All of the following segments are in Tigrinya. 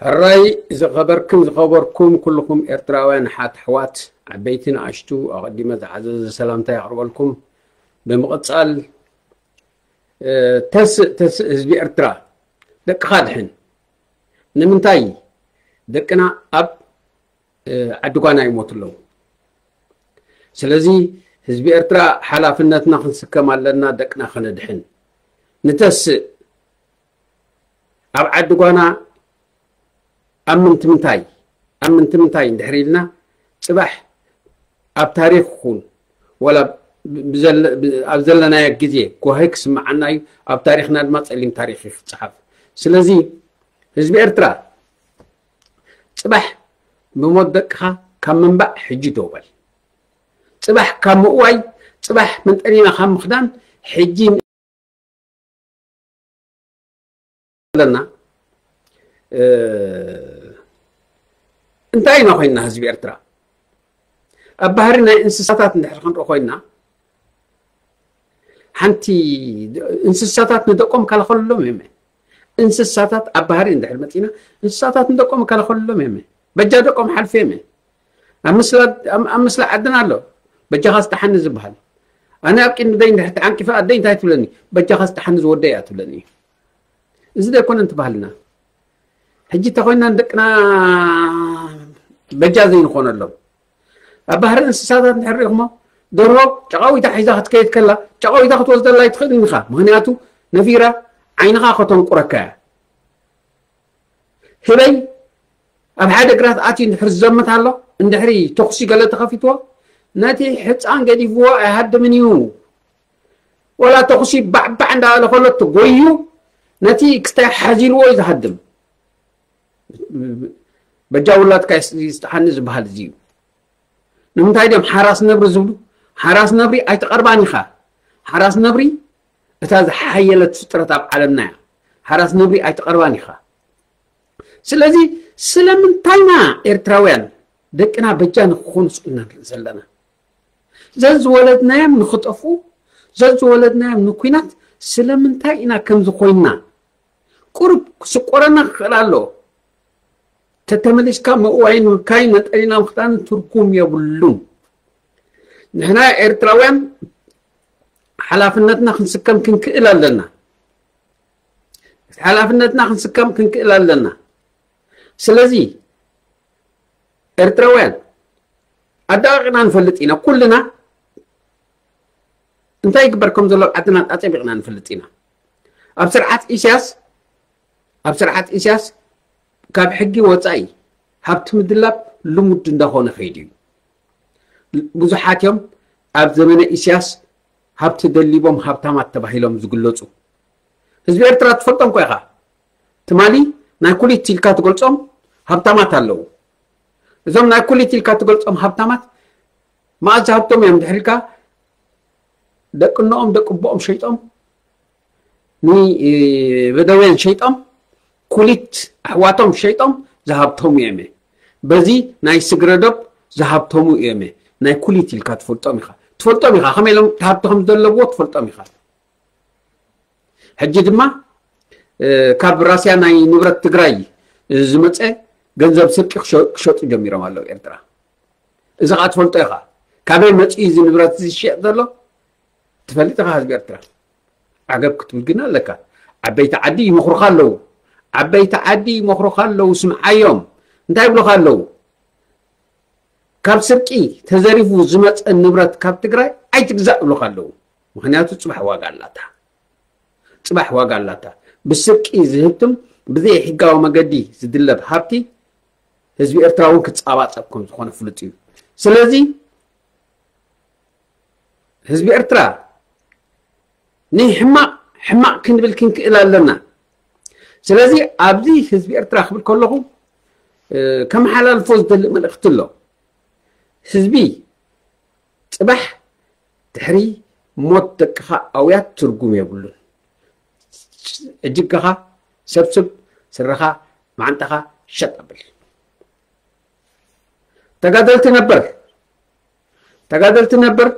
ሕራይ ዝኸበርክን ዝኸበርኩም ኩልኹም ኤርትራውያን ሓት ኣሕዋት፣ ዓበይቲ ንኣሽቱ፣ ኣቐዲመ ዝዓዘዘ ሰላምታ የቕርበልኩም። ብምቕጻል፣ እ፣ ተስእ፣ ተስእ ህዝቢ ኤርትራ፣ ደቅኻ ድሕን። ንምንታይ ደቅና ኣብ፣ እ፣ ዓዲ ጓና ይሞቱ ኣለዉ? ስለዚ ህዝቢ ኤርትራ ሓላፍነትና ክንስከም ኣለና፣ ደቅና ከነድሕን። ንተስእ ኣብ ዓዲ ጓና ኣብ ምንትምንታይ፣ ኣብ ምንትምንታይ እንድሕር ኢልና፣ ጽባሕ ኣብ ታሪኽ ይኹን፣ ወላ ብ-፣ ብዘለ-፣ ብ-፣ ኣብ ዘለናዮ ግዜ ጓሂ ክስምዓና እዩ፣ ኣብ ታሪኽና ድማ ጸሊም ታሪኽ እዩ ክጸሓፍ። ስለዚ ህዝቢ ኤርትራ፣ ጽባሕ ብሞት ደቅኻ ካብ ምንባዕ ሕጂ ደው በል። ጽባሕ ካብ ምእዋይ፣ ጽባሕ መንጠሊና ካብ ምኽዳን፣ ሕጂ ኣለና። እ፣ እንታይ ኢና ኮይንና ህዝቢ ኤርትራ? ኣብ ባህሪ ናይ እንስሳታት እንድሕር ክንርኢ ኮይንና፣ ሓንቲ እንስሳታት ንደቆም ከላኸልሎም እዮም። እንስሳታት ኣብ ባህሪ እንድሕር መጺና፣ እንስሳታት ንደቆም ከላኸልሎም እዮም። በጃ ደቆም ሓልፍ እዮም። ኣብ ምስላ፣ ኣብ፣ ኣብ ምስላ ዓድና ኣሎ። በጃኻ ስጥሓኒ ዝበሃል። ኣነ ኣብ ቅድሚ ደይ እንድሕር ተዓንቂፈ፣ ኣደይ እንታይ ትብለኒ? በጃኻ ስጥሓኒ ዝወደይ እያ ትብለኒ። እዚ ዶ ኣይኮነን እቲ ባህልና? ሕጂ እንተኾይና ንደቅና በጃ ዘይንኾነሎም። ኣብ ባህሪ እንስሳታት እንድሕር ርኢኹሞ፣ ደርሆ ጨቓዊታ ሒዛ ክትከይድ ከላ፣ ጨቓዊታ ክትወስደላ ኣይትኽእልን ኢኻ። ምኽንያቱ ነፊራ ዓይንኻ ከተንቁረካ እያ። ህበይ ኣብ ሓደ ግራት ኣትዩ እንድሕር ዝዘምት ኣሎ፣ እንድሕሪ ተኹሲ ገለ ተኸፊትዎ፣ ነቲ ሕጻን ገዲፍዎ ኣይሃድምን እዩ። ወላ ተኹሲ ባዕባዕ እንዳበለ ከሎ ተጎዩ፣ ነቲ ክስታይ ሓዚልዎ እዩ ዝሃድም። በጃ ውላድካ ይስ-፣ ይስጥሓኒ ዝበሃል እዚ እዩ። ንምንታይ ድዮም ሓራስ ነብሪ ዝብሉ? ሓራስ ነብሪ ኣይትቐርባን ኢኻ። ሓራስ ነብሪ እታ ዝሓየለት ፍጥረት ኣብ ዓለምና እያ። ሓራስ ነብሪ ኣይትቐርባን ኢኻ። ስለዚ ስለምንታይና ኤርትራውያን ደቅና በጃ ንክኾኑ ስኢልና ንርኢ ዘለና? ዘዝወለድናዮም ንክጠፍኡ፣ ዘዝወለድናዮም ንኩናት ስለምንታይ ኢና ከምዚ ኮይንና? ቁሩብ ክስቆረና ክኽእል ኣሎ። ተተመሊስካ ምእዋይን ምብካይን ነጠሊና ምኽዳን ትርጉም የብሉን። ንሕና ኤርትራውያን ሓላፍነትና ክንስከም ክንክእል ኣለና። ሓላፍነትና ክንስከም ክንክእል ኣለና። ስለዚ ኤርትራውያን ኣዳቂቕና ንፈልጥ ኢና። ኩልና እንታይ ይግበር ከም ዘሎ ኣብ ዓድና ኣጸቢቕና ንፈልጥ ኢና። ኣብ ስርዓት ኢሳያስ፣ ኣብ ስርዓት ኢሳያስ ካብ ሕጊ ወጻኢ ሃብቲ ምድላብ ልሙድ እንዳኾነ ከይዱ እዩ። ብዙሓት እዮም ኣብ ዘመነ ኢሳያስ ሃብቲ ደሊቦም ሃብታማት ተባሂሎም ዝግለጹ። ህዝቢ ኤርትራ ትፈልጦም እኮ ኢኻ። ትማሊ ናይ ኩሊት ኢልካ ትገልጾም ሃብታማት ኣለዉ። እዞም ናይ ኩሊት ኢልካ ትገልጾም ሃብታማት መኣዝ ሃብቶም እዮም ድሕር ኢልካ ደቂ እኖኦም ደቂ ኣቦኦም ሸይጦም ንበደውያን ሸይጦም ኩሊት ኣሕዋቶም ሸይጦም ዝሃብተሙ እዮም። በዚ ናይ ስግረዶብ ዝሃብተሙ እዮም። ናይ ኩሊት ኢልካ ትፈልጦም ኢኻ። ትፈልጦም ኢኻ። ከመይ ኢሎም ሃብቲ ከም ዘለዎ ትፈልጦም ኢኻ። ሕጂ ድማ፣ እ፣ ካብ ራስያ ናይ ንብረት ትግራይ ዝመጸ ገንዘብ ስርቂ ክሸ-፣ ክሸጡ ጀሚሮም ኣለዉ ኤርትራ። እዚ ኸኣ ትፈልጦ ኢኻ። ካበይ መጺኡ እዚ ንብረት እዚ ዝሽየጥ ዘሎ? ትፈልጥ ኢኻ ህዝቢ ኤርትራ። ዓገብ ክትብል ግን ኣለካ። ዓበይቲ ዓዲ ይመኽሩኻ ኣለዉ። ዓበይቲ ዓዲ ይመኽሩኻ ኣለዉ፣ ስምዓዮም። እንታይ ይብሉኻ ኣለዉ? ካብ ስርቂ ተዘሪፉ ዝመጸ ንብረት ካብ ትግራይ ኣይትግዛእ ይብሉኻ ኣለዉ። ምኽንያቱ ጽባሕ ዋጋ ኣላታ። ጽባሕ ዋጋ ኣላታ። ብስርቂ ዝህብትም ብዘይ ሕጋዊ መገዲ ዝድለብ ሃብቲ ህዝቢ ኤርትራ እውን ክጻባጸብ ከም ዝኾነ ፍሉጥ እዩ። ስለዚ ህዝቢ ኤርትራ ንሕማቕ ሕማቕ ክንብል ክንክእል ኣለና። ስለዚ ኣብዚ ህዝቢ ኤርትራ ክብል ከለኹ፣ እ፣ ከመሓላልፎ ዝደሊ መልእኽቲ ኣሎ። ህዝቢ ጽባሕ ድሕሪ ሞት ደቅኻ ኣውያት ትርጉም የብሉን። እጅግኻ ሰብስብ፣ ስረኻ ማዓንጣኻ ሸጥ ኣብል። ተጋደልቲ ነበር፣ ተጋደልቲ ነበር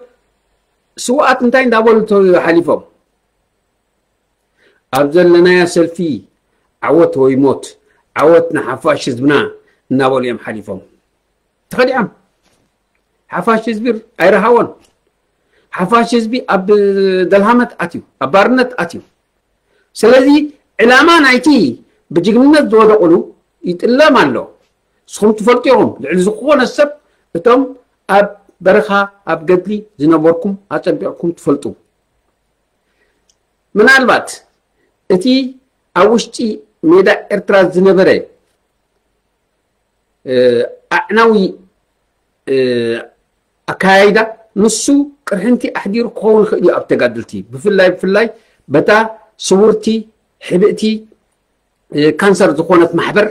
ስውኣት እንታይ እንዳበሉ ተው ሓሊፎም? ኣብ ዘለናያ ሰልፊ ዓወት ወይ ሞት፣ ዓወት ንሓፋሽ ህዝብና እናበሉ እዮም ሓሊፎም። ተኸዲዖም። ሓፋሽ ህዝቢ ኣይረሃቦን። ሓፋሽ ህዝቢ ኣብ ደልሃመት ኣትዩ፣ ኣብ ባርነት ኣትዩ። ስለዚ ዕላማ ናይቲ ብጅግንነት ዝወደቑሉ ይጥለም ኣሎ። ንስኹም ትፈልጡ ኢኹም። ልዕሊ ዝኾነ ሰብ እቶም ኣብ በረኻ ኣብ ገድሊ ዝነበርኩም ኣጸቢቕኩም ትፈልጡ። ምናልባት እቲ ኣብ ውሽጢ ሜዳ ኤርትራ ዝነበረ ኣዕናዊ ኣካያይዳ ንሱ ቅርሕንቲ ኣሕዲሩ ክኸውን ይኽእል እዩ ኣብ ተጋደልቲ። ብፍላይ ብፍላይ በታ ስውርቲ ሕብእቲ ካንሰር ዝኾነት ማሕበር፣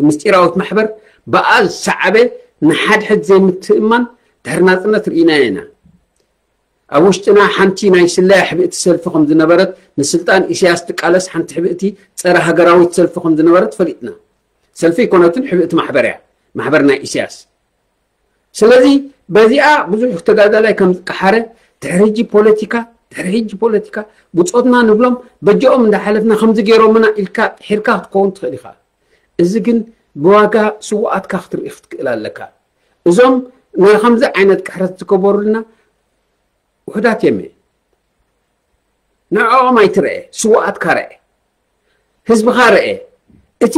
ምስጢራዊት ማሕበር፣ ብኣ ዝሰዓበ ንሓድሕድ ዘይምትእምማን ድሕሪ ናጽነት ርኢናዮ ኢና። ኣብ ውሽጥና ሓንቲ ናይ ስለያ ሕብእቲ ሰልፊ ከም ዝነበረት፣ ንስልጣን ኢሳያስ ትቃለስ ሓንቲ ሕብእቲ ጸረ ሃገራዊት ሰልፊ ከም ዝነበረት ፈሊጥና። ሰልፊ ኣይኮነትን፣ ሕብእቲ ማሕበር እያ፣ ማሕበር ናይ ኢሳያስ። ስለዚ በዚኣ ብዙሕ ተጋዳላይ ከም ዝቀሓረ፣ ድሕሪ ሕጂ ፖለቲካ፣ ድሕሪ ሕጂ ፖለቲካ ብጾትና ንብሎም በጀኦም እንዳሓለፍና ከምዚ ገይሮምና ኢልካ ሒርካ ክትከውን ትኽእል ኢኻ። እዚ ግን ብዋጋ ስውኣትካ ክትርኢ ክትክእል ኣለካ። እዞም ናይ ከምዚ ዓይነት ቅሕረት ዝገበሩልና ውሑዳት እዮም። ንዕኦም ኣይትርአ፣ ስውኣትካ ርአ፣ ህዝብኻ ርአ። እቲ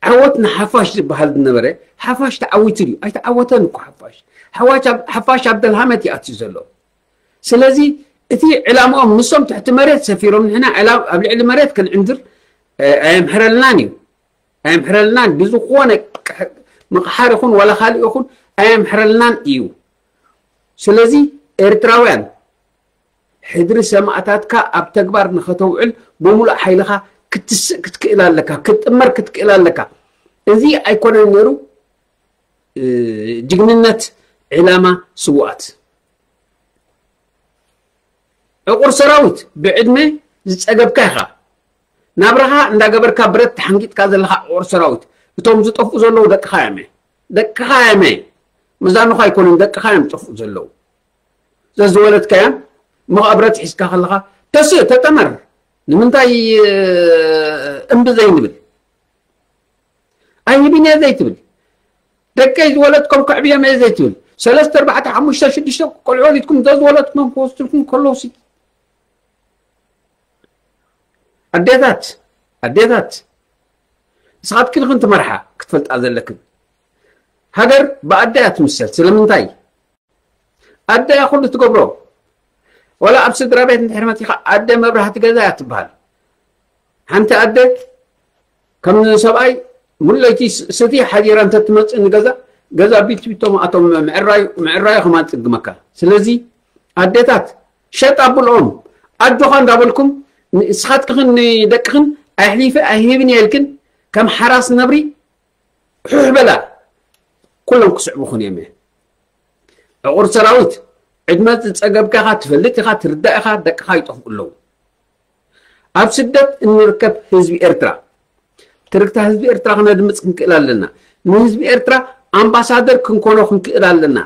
ዓወት ንሓፋሽ ዝበሃል ዝነበረ ሓፋሽ ተዓዊቱ ድዩ? ኣይተዓወተን እኮ ሓፋሽ። ሓፋሽ ኣብ ደልሃመት ይኣትዩ ዘሎ። ስለዚ እቲ ዕላምኦም ንሶም ትሕቲ መሬት ሰፊሮም ንሕና ኣብ ልዕሊ መሬት ክንዕንድር ኣየምሕረልናን እዩ። ኣየምሕረልናን ብዝኾነ ምቕሓር ይኹን ዋላ ካልእ ይኹን ኣየምሕረልናን እዩ። ስለዚ ኤርትራውያን ሕድሪ ሰማእታትካ ኣብ ተግባር ንኸተውዕል ብምሉእ ሓይልኻ ክትስእ ክትክእል ኣለካ፣ ክትጥመር ክትክእል ኣለካ። እዚ ኣይኮነን ነይሩ ጅግንነት ዕላማ ስውኣት። ዕቑር ሰራዊት ብዕድመ ዝጸገብካ ኢኻ። ናብራኻ እንዳገበርካ ብረት ተሓንጊጥካ ዘለኻ ዕቑር ሰራዊት። እቶም ዝጠፍኡ ዘለዉ ደቅኻ እዮም። ደቅኻ እዮም። መዛኑኻ ኣይኮኑን፣ ደቅኻ እዮም ዝጠፍኡ ዘለዉ። ዘዝወለድካዮም እሞ ብረት ሒዝካ ከለኻ ተስእ፣ ተጠመር። ንምንታይ እምቢ ዘይንብል? ኣይህብን እየ ዘይትብል? ደቀይ ዝወለድኩም ከዕብዮም እየ ዘይትብል? ሰለስተ፣ ኣርባዕተ፣ ሓሙሽተ፣ ሽዱሽተ ቆልዑ ወሊድኩም ዘዝወለድኩም ክወስድልኩም ከለውሲ ኣዴታት፣ ኣዴታት፣ ንስኻትክን ኢኽን ትመርሓ ክትፈልጣ ዘለክን። ሃገር ብኣደ እያ ትምሰል። ስለምንታይ? ኣደ እያ ኩሉ ትገብሮ። ወላ ኣብ ስድራ ቤት እንድሕር መጺኻ ኣደ መብራህቲ ገዛ እያ ትበሃል። ሓንቲ ኣደ ከም ሰብኣይ ሙሉ ለይቲ ስቲ ሓዲራ እንተትመጽእ ንገዛ፣ ገዛ ቢት ቢቶም ኣቶም ምዕራዩ ምዕራዩ ከማን ጽግመካ። ስለዚ ኣዴታት ሸጥ ኣብልኦም ኣጆኻ እንዳበልኩም ንስኻትክኽን ንደቅኽን ኣሕሊፈ ኣይህብን እየ ኢልክን ከም ሓራስ ነብሪ ሑሕ በላ። ኩሎም ክስዕቡኽን እዮም። ዕቑር ሰራዊት ዕድመ ዝጸገብካ ኢኻ፣ ትፈልጥ ኢኻ፣ ትርዳእ ኢኻ፣ ደቅኻ ይጠፍኡ ኣለዉ። ኣብ ስደት እንርከብ ህዝቢ ኤርትራ ትርክታ ህዝቢ ኤርትራ ክነድምጽ ክንክእል ኣለና። ንህዝቢ ኤርትራ ኣምባሳደር ክንኮኖ ክንክእል ኣለና።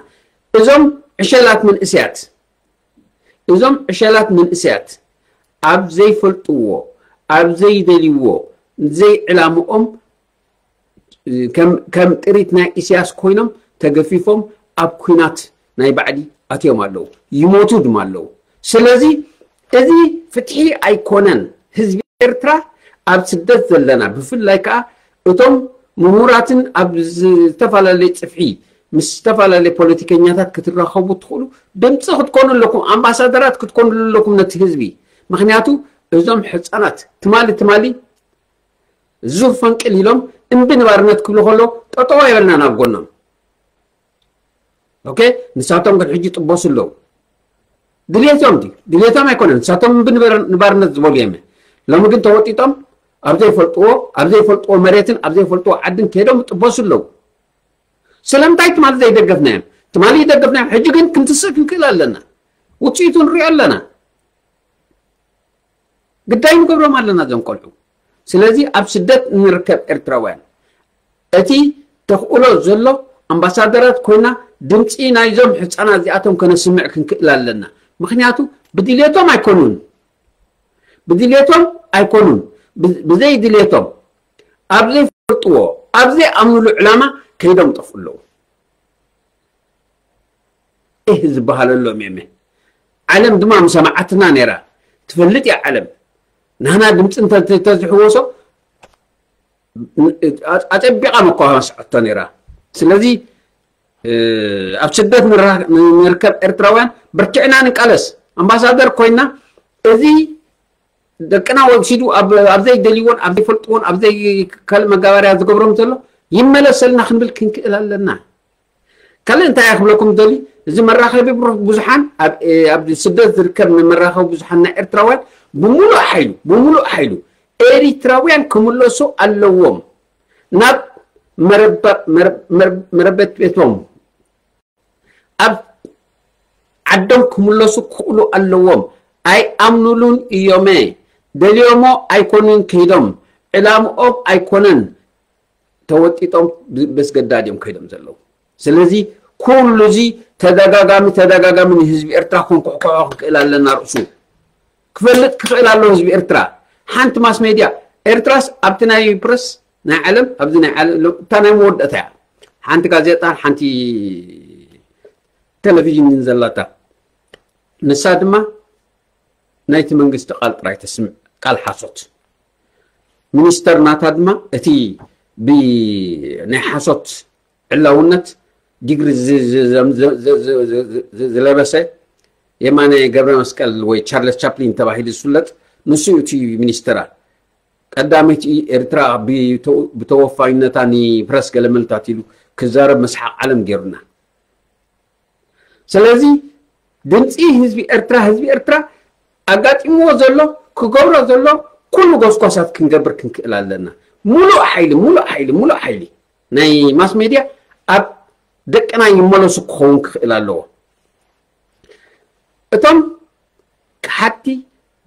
እዞም ዕሸላት መንእሰያት እዞም ዕሸላት መንእሰያት ኣብ ዘይፈልጥዎ ኣብ ዘይደልይዎ ዘይዕላምኦም ከም ጥሪት ናይ ኢሳያስ ኮይኖም ተገፊፎም ኣብ ኩናት ናይ ባዕዲ ኣትዮም ኣለዉ፣ ይሞቱ ድማ ኣለዉ። ስለዚ እዚ ፍትሒ ኣይኮነን። ህዝቢ ኤርትራ ኣብ ስደት ዘለና ብፍላይ ከዓ እቶም ምሁራትን ኣብ ዝተፈላለየ ጽፍሒ ምስ ዝተፈላለየ ፖለቲከኛታት ክትራኸቡ ትኽእሉ ድምፂ ክትኮኑ ኣለኩም፣ ኣምባሳደራት ክትኮኑ ኣለኩም ነቲ ህዝቢ። ምክንያቱ እዞም ሕፃናት ትማሊ ትማሊ ዙር ፈንቅል ኢሎም እምቢ ንባርነት ክብሉ ከሎ ጠጠው ኣይበልና ናብ ጎኖም። ኦኬ፣ ንሳቶም ግን ሕጂ ጥበሱ ኣለዉ። ድልየቶም ድዩ? ድልየቶም ኣይኮነን። ንሳቶም እምቢ ንባርነት ዝበሉ እዮም። ሎሚ ግን ተወጢጦም ኣብ ዘይፈልጥዎ ኣብ ዘይፈልጥዎ መሬትን ኣብ ዘይፈልጥዎ ዓድን ከይዶም ጥበሱ ኣለዉ። ስለምንታይ ትማሊ ዘይደገፍናዮም? ትማሊ ይደገፍናዮም፣ ሕጂ ግን ክንትስእ ክንክእል ኣለና። ውፅኢቱ ንሪኦ ኣለና። ግዳይ ንገብሮም ኣለና እዞም ቆልዑ። ስለዚ ኣብ ስደት እንርከብ ኤርትራውያን እቲ ተኽእሎ ዘሎ ኣምባሳደራት ኮይና ድምፂ ናይዞም ሕፃናት እዚኣቶም ከነስምዕ ክንክእል ኣለና። ምክንያቱ ብድልየቶም ኣይኮኑን፣ ብድልየቶም ኣይኮኑን፣ ብዘይ ድልየቶም ኣብ ዘይፈልጥዎ፣ ኣብ ዘይኣምንሉ ዕላማ ከይዶም ጠፍኡ ኣለዉ። እህ ዝበሃለሎም የመ። ዓለም ድማ ምሰማዓትና ነይራ። ትፈልጥ እያ ዓለም። ናህና ድምፂ እንተ-፣ እንተ-፣ እንተዝሕወሶ፣ ን-፣ ኣፀቢቓ መኳ መስዐቶ ነይራ። ስለዚ፣ እ፣ ኣብ ስደት ንራ-፣ ንርከብ ኤርትራውያን በርቲዕና ንቃለስ። ኣምባሳደር ኮይና፣ እዚ ደቅና ወሲዱ ኣብ፣ ኣብ ዘይደልይዎን፣ ኣብ ዘይፈልጥዎን፣ ኣብ ዘይካልእ መጋበርያ ዝገብሮም ዘሎ ይመለሰልና ክንብል ክንክእል ኣለና። ካልእ እንታይ እየ ክብለኩም ደሊ፣ እዚ መራኸቢ ብሩ-፣ ብዙሓን ኣብ፣ እ፣ ኣብ ስደት ዝርከብ ንመራኸቢ ብዙሓን ናይ ኤርትራውያን ብምሉእ ሓይሉ፣ ብምሉእ ሓይሉ ኤሪትራውያን ክምለሱ ኣለዎም ናብ መረባ-፣ መረ-፣ መረ-፣ መረበት ቤቶም። ኣብ ዓዶም ክምለሱ ክኽእሉ ኣለዎም። ኣይኣምኑሉን እዮመ። ደልዮሞ ኣይኮኑን ከይዶም። ዕላምኦም ኣይኮነን ተወጢጦም ብ-፣ በስገዳድ እዮም ከይዶም ዘለዉ። ስለዚ ኩሉ እዚ ተደጋጋሚ፣ ተደጋጋሚ ንህዝቢ ኤርትራ ክንኩሕኩሖ ክንክእል ኣለና ርእሱ። ክፈልጥ ክኽእል ኣለዎ ህዝቢ ኤርትራ። ሓንቲ ማስ ሜድያ ኤርትራስ ኣብቲ ናይ ፕረስ ናይ ዓለም፣ ኣብዚ ናይ ዓለም፣ እታ ናይ መወዳእታ እያ። ሓንቲ ጋዜጣ፣ ሓንቲ ቴሌቪዥን ዘላታ። ንሳ ድማ ናይቲ መንግስቲ ቃል ጥራይ ተስምዕ፣ ቃል ሓሶት። ሚኒስተር ናታ ድማ እቲ ብናይ ሓሶት ዕላውነት ዲግሪ ዝ-፣ ዝ-፣ ዝ-፣ ዝ-፣ ዝ-፣ ዝ-፣ ዝ-፣ ዝለበሰ የማነ ገብረ መስቀል ወይ ቻርለስ ቻፕሊን ተባሂሉ ዝፍለጥ ንሱ እዩ እቲ ሚኒስተራ። ቀዳመይቲ ኤርትራ ብተ-፣ ብተወፋይነታ ንፕረስ ገለመልታት ኢሉ ክዛረብ መስሓቕ ዓለም ገይሩና። ስለዚ ድምፂ ህዝቢ ኤርትራ፣ ህዝቢ ኤርትራ ኣጋጢምዎ ዘሎ፣ ክገብሮ ዘሎ ኩሉ ጎስጓሳት ክንገብር ክንክእል ኣለና። ሙሉእ ሓይሊ፣ ሙሉእ ሓይሊ፣ ሙሉእ ሓይሊ ናይ ማስ ሜድያ ኣብ ደቅና ይመለሱ ክኸውን ክኽእል ኣለዎ። እቶም ክሓድቲ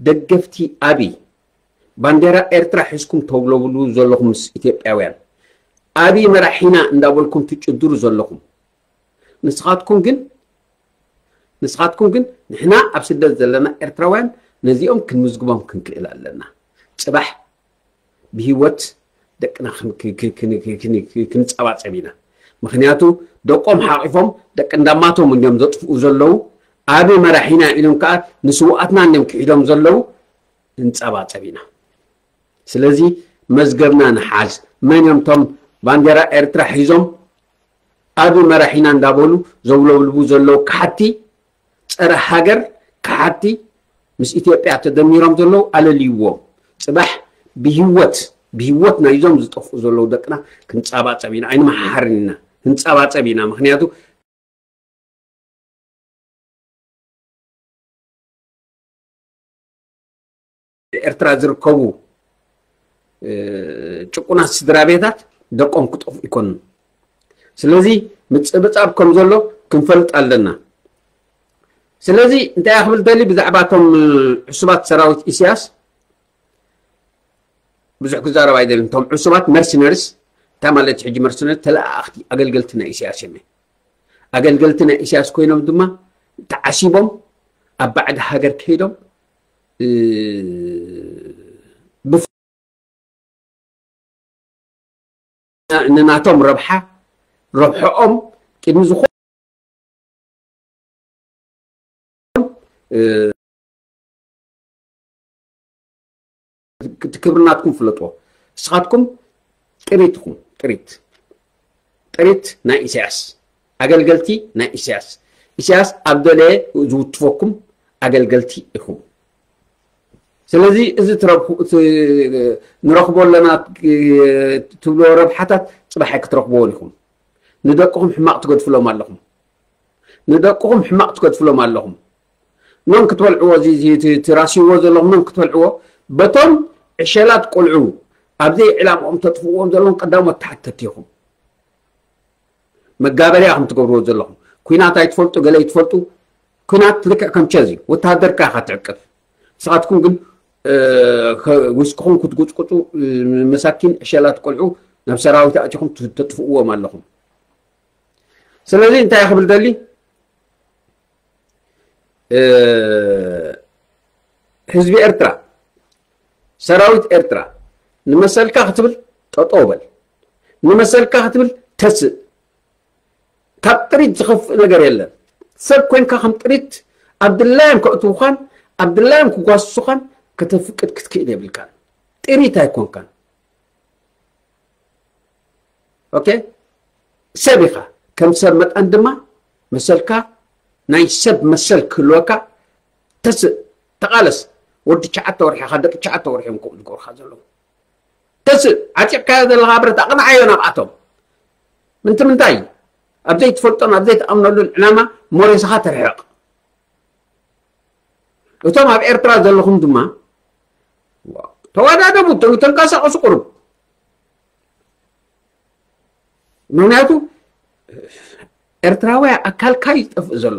ደገፍቲ ኣብይ፣ ባንዴራ ኤርትራ ሒዝኩም ተውለብሉ ዘለኹም ምስ ኢትዮጵያውያን፣ ኣብይ መራሒና እንዳበልኩም ትጭድሩ ዘለኹም፣ ንስኻትኩም ግን፣ ንስኻትኩም ግን ንሕና ኣብ ስደት ዘለና ኤርትራውያን ነዚኦም ክንምዝግቦም ክንክእል ኣለና። ጽባሕ ብህይወት ደቅና ክን-፣ ክን-፣ ክን-፣ ክን-፣ ክን-፣ ክን-፣ ክንጸባጸብ ኢና። ምኽንያቱ ደቆም ሓቒፎም ደቂ እንዳማቶም እንዲዮም ዘጥፍኡ ዘለዉ። ኣበይ መራሒና ኢሎም ከኣ ንስውኣትና እንዲዮም ክሒዶም ዘለዉ። እንጸባጸብ ኢና። ስለዚ መዝገብና ንሓዝ። መን እዮም እቶም ባንዴራ ኤርትራ ሒዞም ኣበይ መራሒና እንዳበሉ ዘውለብልቡ ዘለዉ ከሓድቲ፣ ጸረ ሃገር ከሓድቲ፣ ምስ ኢትዮጵያ ተደሚሮም ዘለዉ ኣለልይዎም። ጽባሕ ብህይወት፣ ብህይወት ናይዞም ዝጠፍኡ ዘለዉ ደቅና ክንጸባጸብ ኢና፣ ኣይንመሓርን ኢና፣ ክንጸባጸብ ኢና። ምኽንያቱ ኤርትራ ዝርከቡ፣ እ፣ ጭቁናት ስድራ ቤታት ደቆም ክጠፍኡ ኣይኮኑን። ስለዚ ምጽብጻብ ከም ዘሎ ክንፈልጥ ኣለና። ስለዚ እንታይ እያ ክብል ደሊ ብዛዕባ እቶም፣ እ፣ ዕሱባት ሰራዊት ኢሳያስ ብዙሕ ክዛረብ ኣይደልን። እቶም ዕሱባት መርሲነሪስ፣ እንታይ ማለት ሕጂ መርሲነሪስ? ተለኣኣኽቲ ኣገልገልቲ ናይ ኢሳያስ እዮም። ኣገልገልቲ ናይ ኢሳያስ ኮይኖም ድማ ተዓሲቦም ኣብ ባዕዲ ሃገር ከይዶም፣ እ፣ ብፍ-፣ ንናቶም ረብሓ፣ ረብሕኦም ቅድሚ ዝኾ-፣ እ፣ እቲ ክብሪ ናትኩም ፍለጥዎ። ንስኻትኩም ጥሪት ኢኹም፣ ጥሪት። ጥሪት ናይ ኢሳያስ። ኣገልገልቲ ናይ ኢሳያስ። ኢሳያስ ኣብ ደለየ ዝውትፈኩም ኣገልገልቲ ኢኹም። ስለዚ እዚ ትረብሑ-፣ እቲ ንረኽቦ ኣለና ትብልዎ ረብሓታት ጽባሕ ኣይክትረኽብዎን ኢኹም። ንደቅኹም ሕማቕ ትገድፍሎም ኣለኹም። ንደቅኹም ሕማቕ ትገድፍሎም ኣለኹም። ኖም ክትበልዕዎ፣ እዚ፣ እዚ፣ እቲ፣ እቲ ራስይዎ ዘለኹም ኖም ክትበልዕዎ፣ በቶም ዕሸላት ቆልዑ ኣብ ዘይዕላምኦም ተጥፍእዎም ዘለኹም ቀዳሞት ተሓተቲ ኢኹም። መጋበርያ ከም ትገብርዎ ዘለኹም። ኲናት ኣይትፈልጡ፣ ገለ ኣይትፈልጡ። ኲናት ልክዕ ከም ቸዝ እዩ። ወተሃደርካ ኢኻ ትዕቅብ። ንስኻትኩም ግን፣ እ፣ ከ-፣ ዊስክኹም ክትጉጭቁጩ፣ እ፣ መሳኪን ዕሸላት ቆልዑ ናብ ሰራዊት ኣእቲኹም ት-፣ ተጥፍእዎም ኣለኹም። ስለዚ እንታይ ክብል ደሊ፣ እ፣ ህዝቢ ኤርትራ፣ ሰራዊት ኤርትራ ንመሰልካ ክትብል ጠጠው በል። ንመሰልካ ክትብል ተስእ። ካብ ጥሪት ዝኸፍእ ነገር የለን። ሰብ ኮይንካ ከም ጥሪት ኣብ ድላዮም ከእትውኻን ኣብ ድላዮም ክጓስሱኻን ከተፍቅድ ክትክእል የብልካን። ጥሪት ኣይኮንካን። ኦኬ፣ ሰብ ኢኻ። ከም ሰብ መጠን ድማ መሰልካ፣ ናይ ሰብ መሰል ክህልወካ ተስእ፣ ተቓለስ። ወዲ ትሽዓተ ወርሒ ኢኻ፣ ደቂ ትሽዓተ ወርሒ እዮም ከምኡ ዝገብሩኻ ዘለዉ። ተስእ፣ ዓጢቕካዮ ዘለኻ ብረት ኣቕንዓዮ ናብኣቶም። ምንቲ ምንታይ? ኣብ ዘይትፈልጦን ኣብ ዘይትኣምነሉን ዕላማ ሞሬስኻ ተርሕቕ። እቶም ኣብ ኤርትራ ዘለኹም ድማ ተወዳደቡ፣ ተን-፣ ተንቀሳቐሱ ቁሩብ። ምኽንያቱ ኤርትራውያ ኣካልካ እዩ ዝጠፍእ ዘሎ።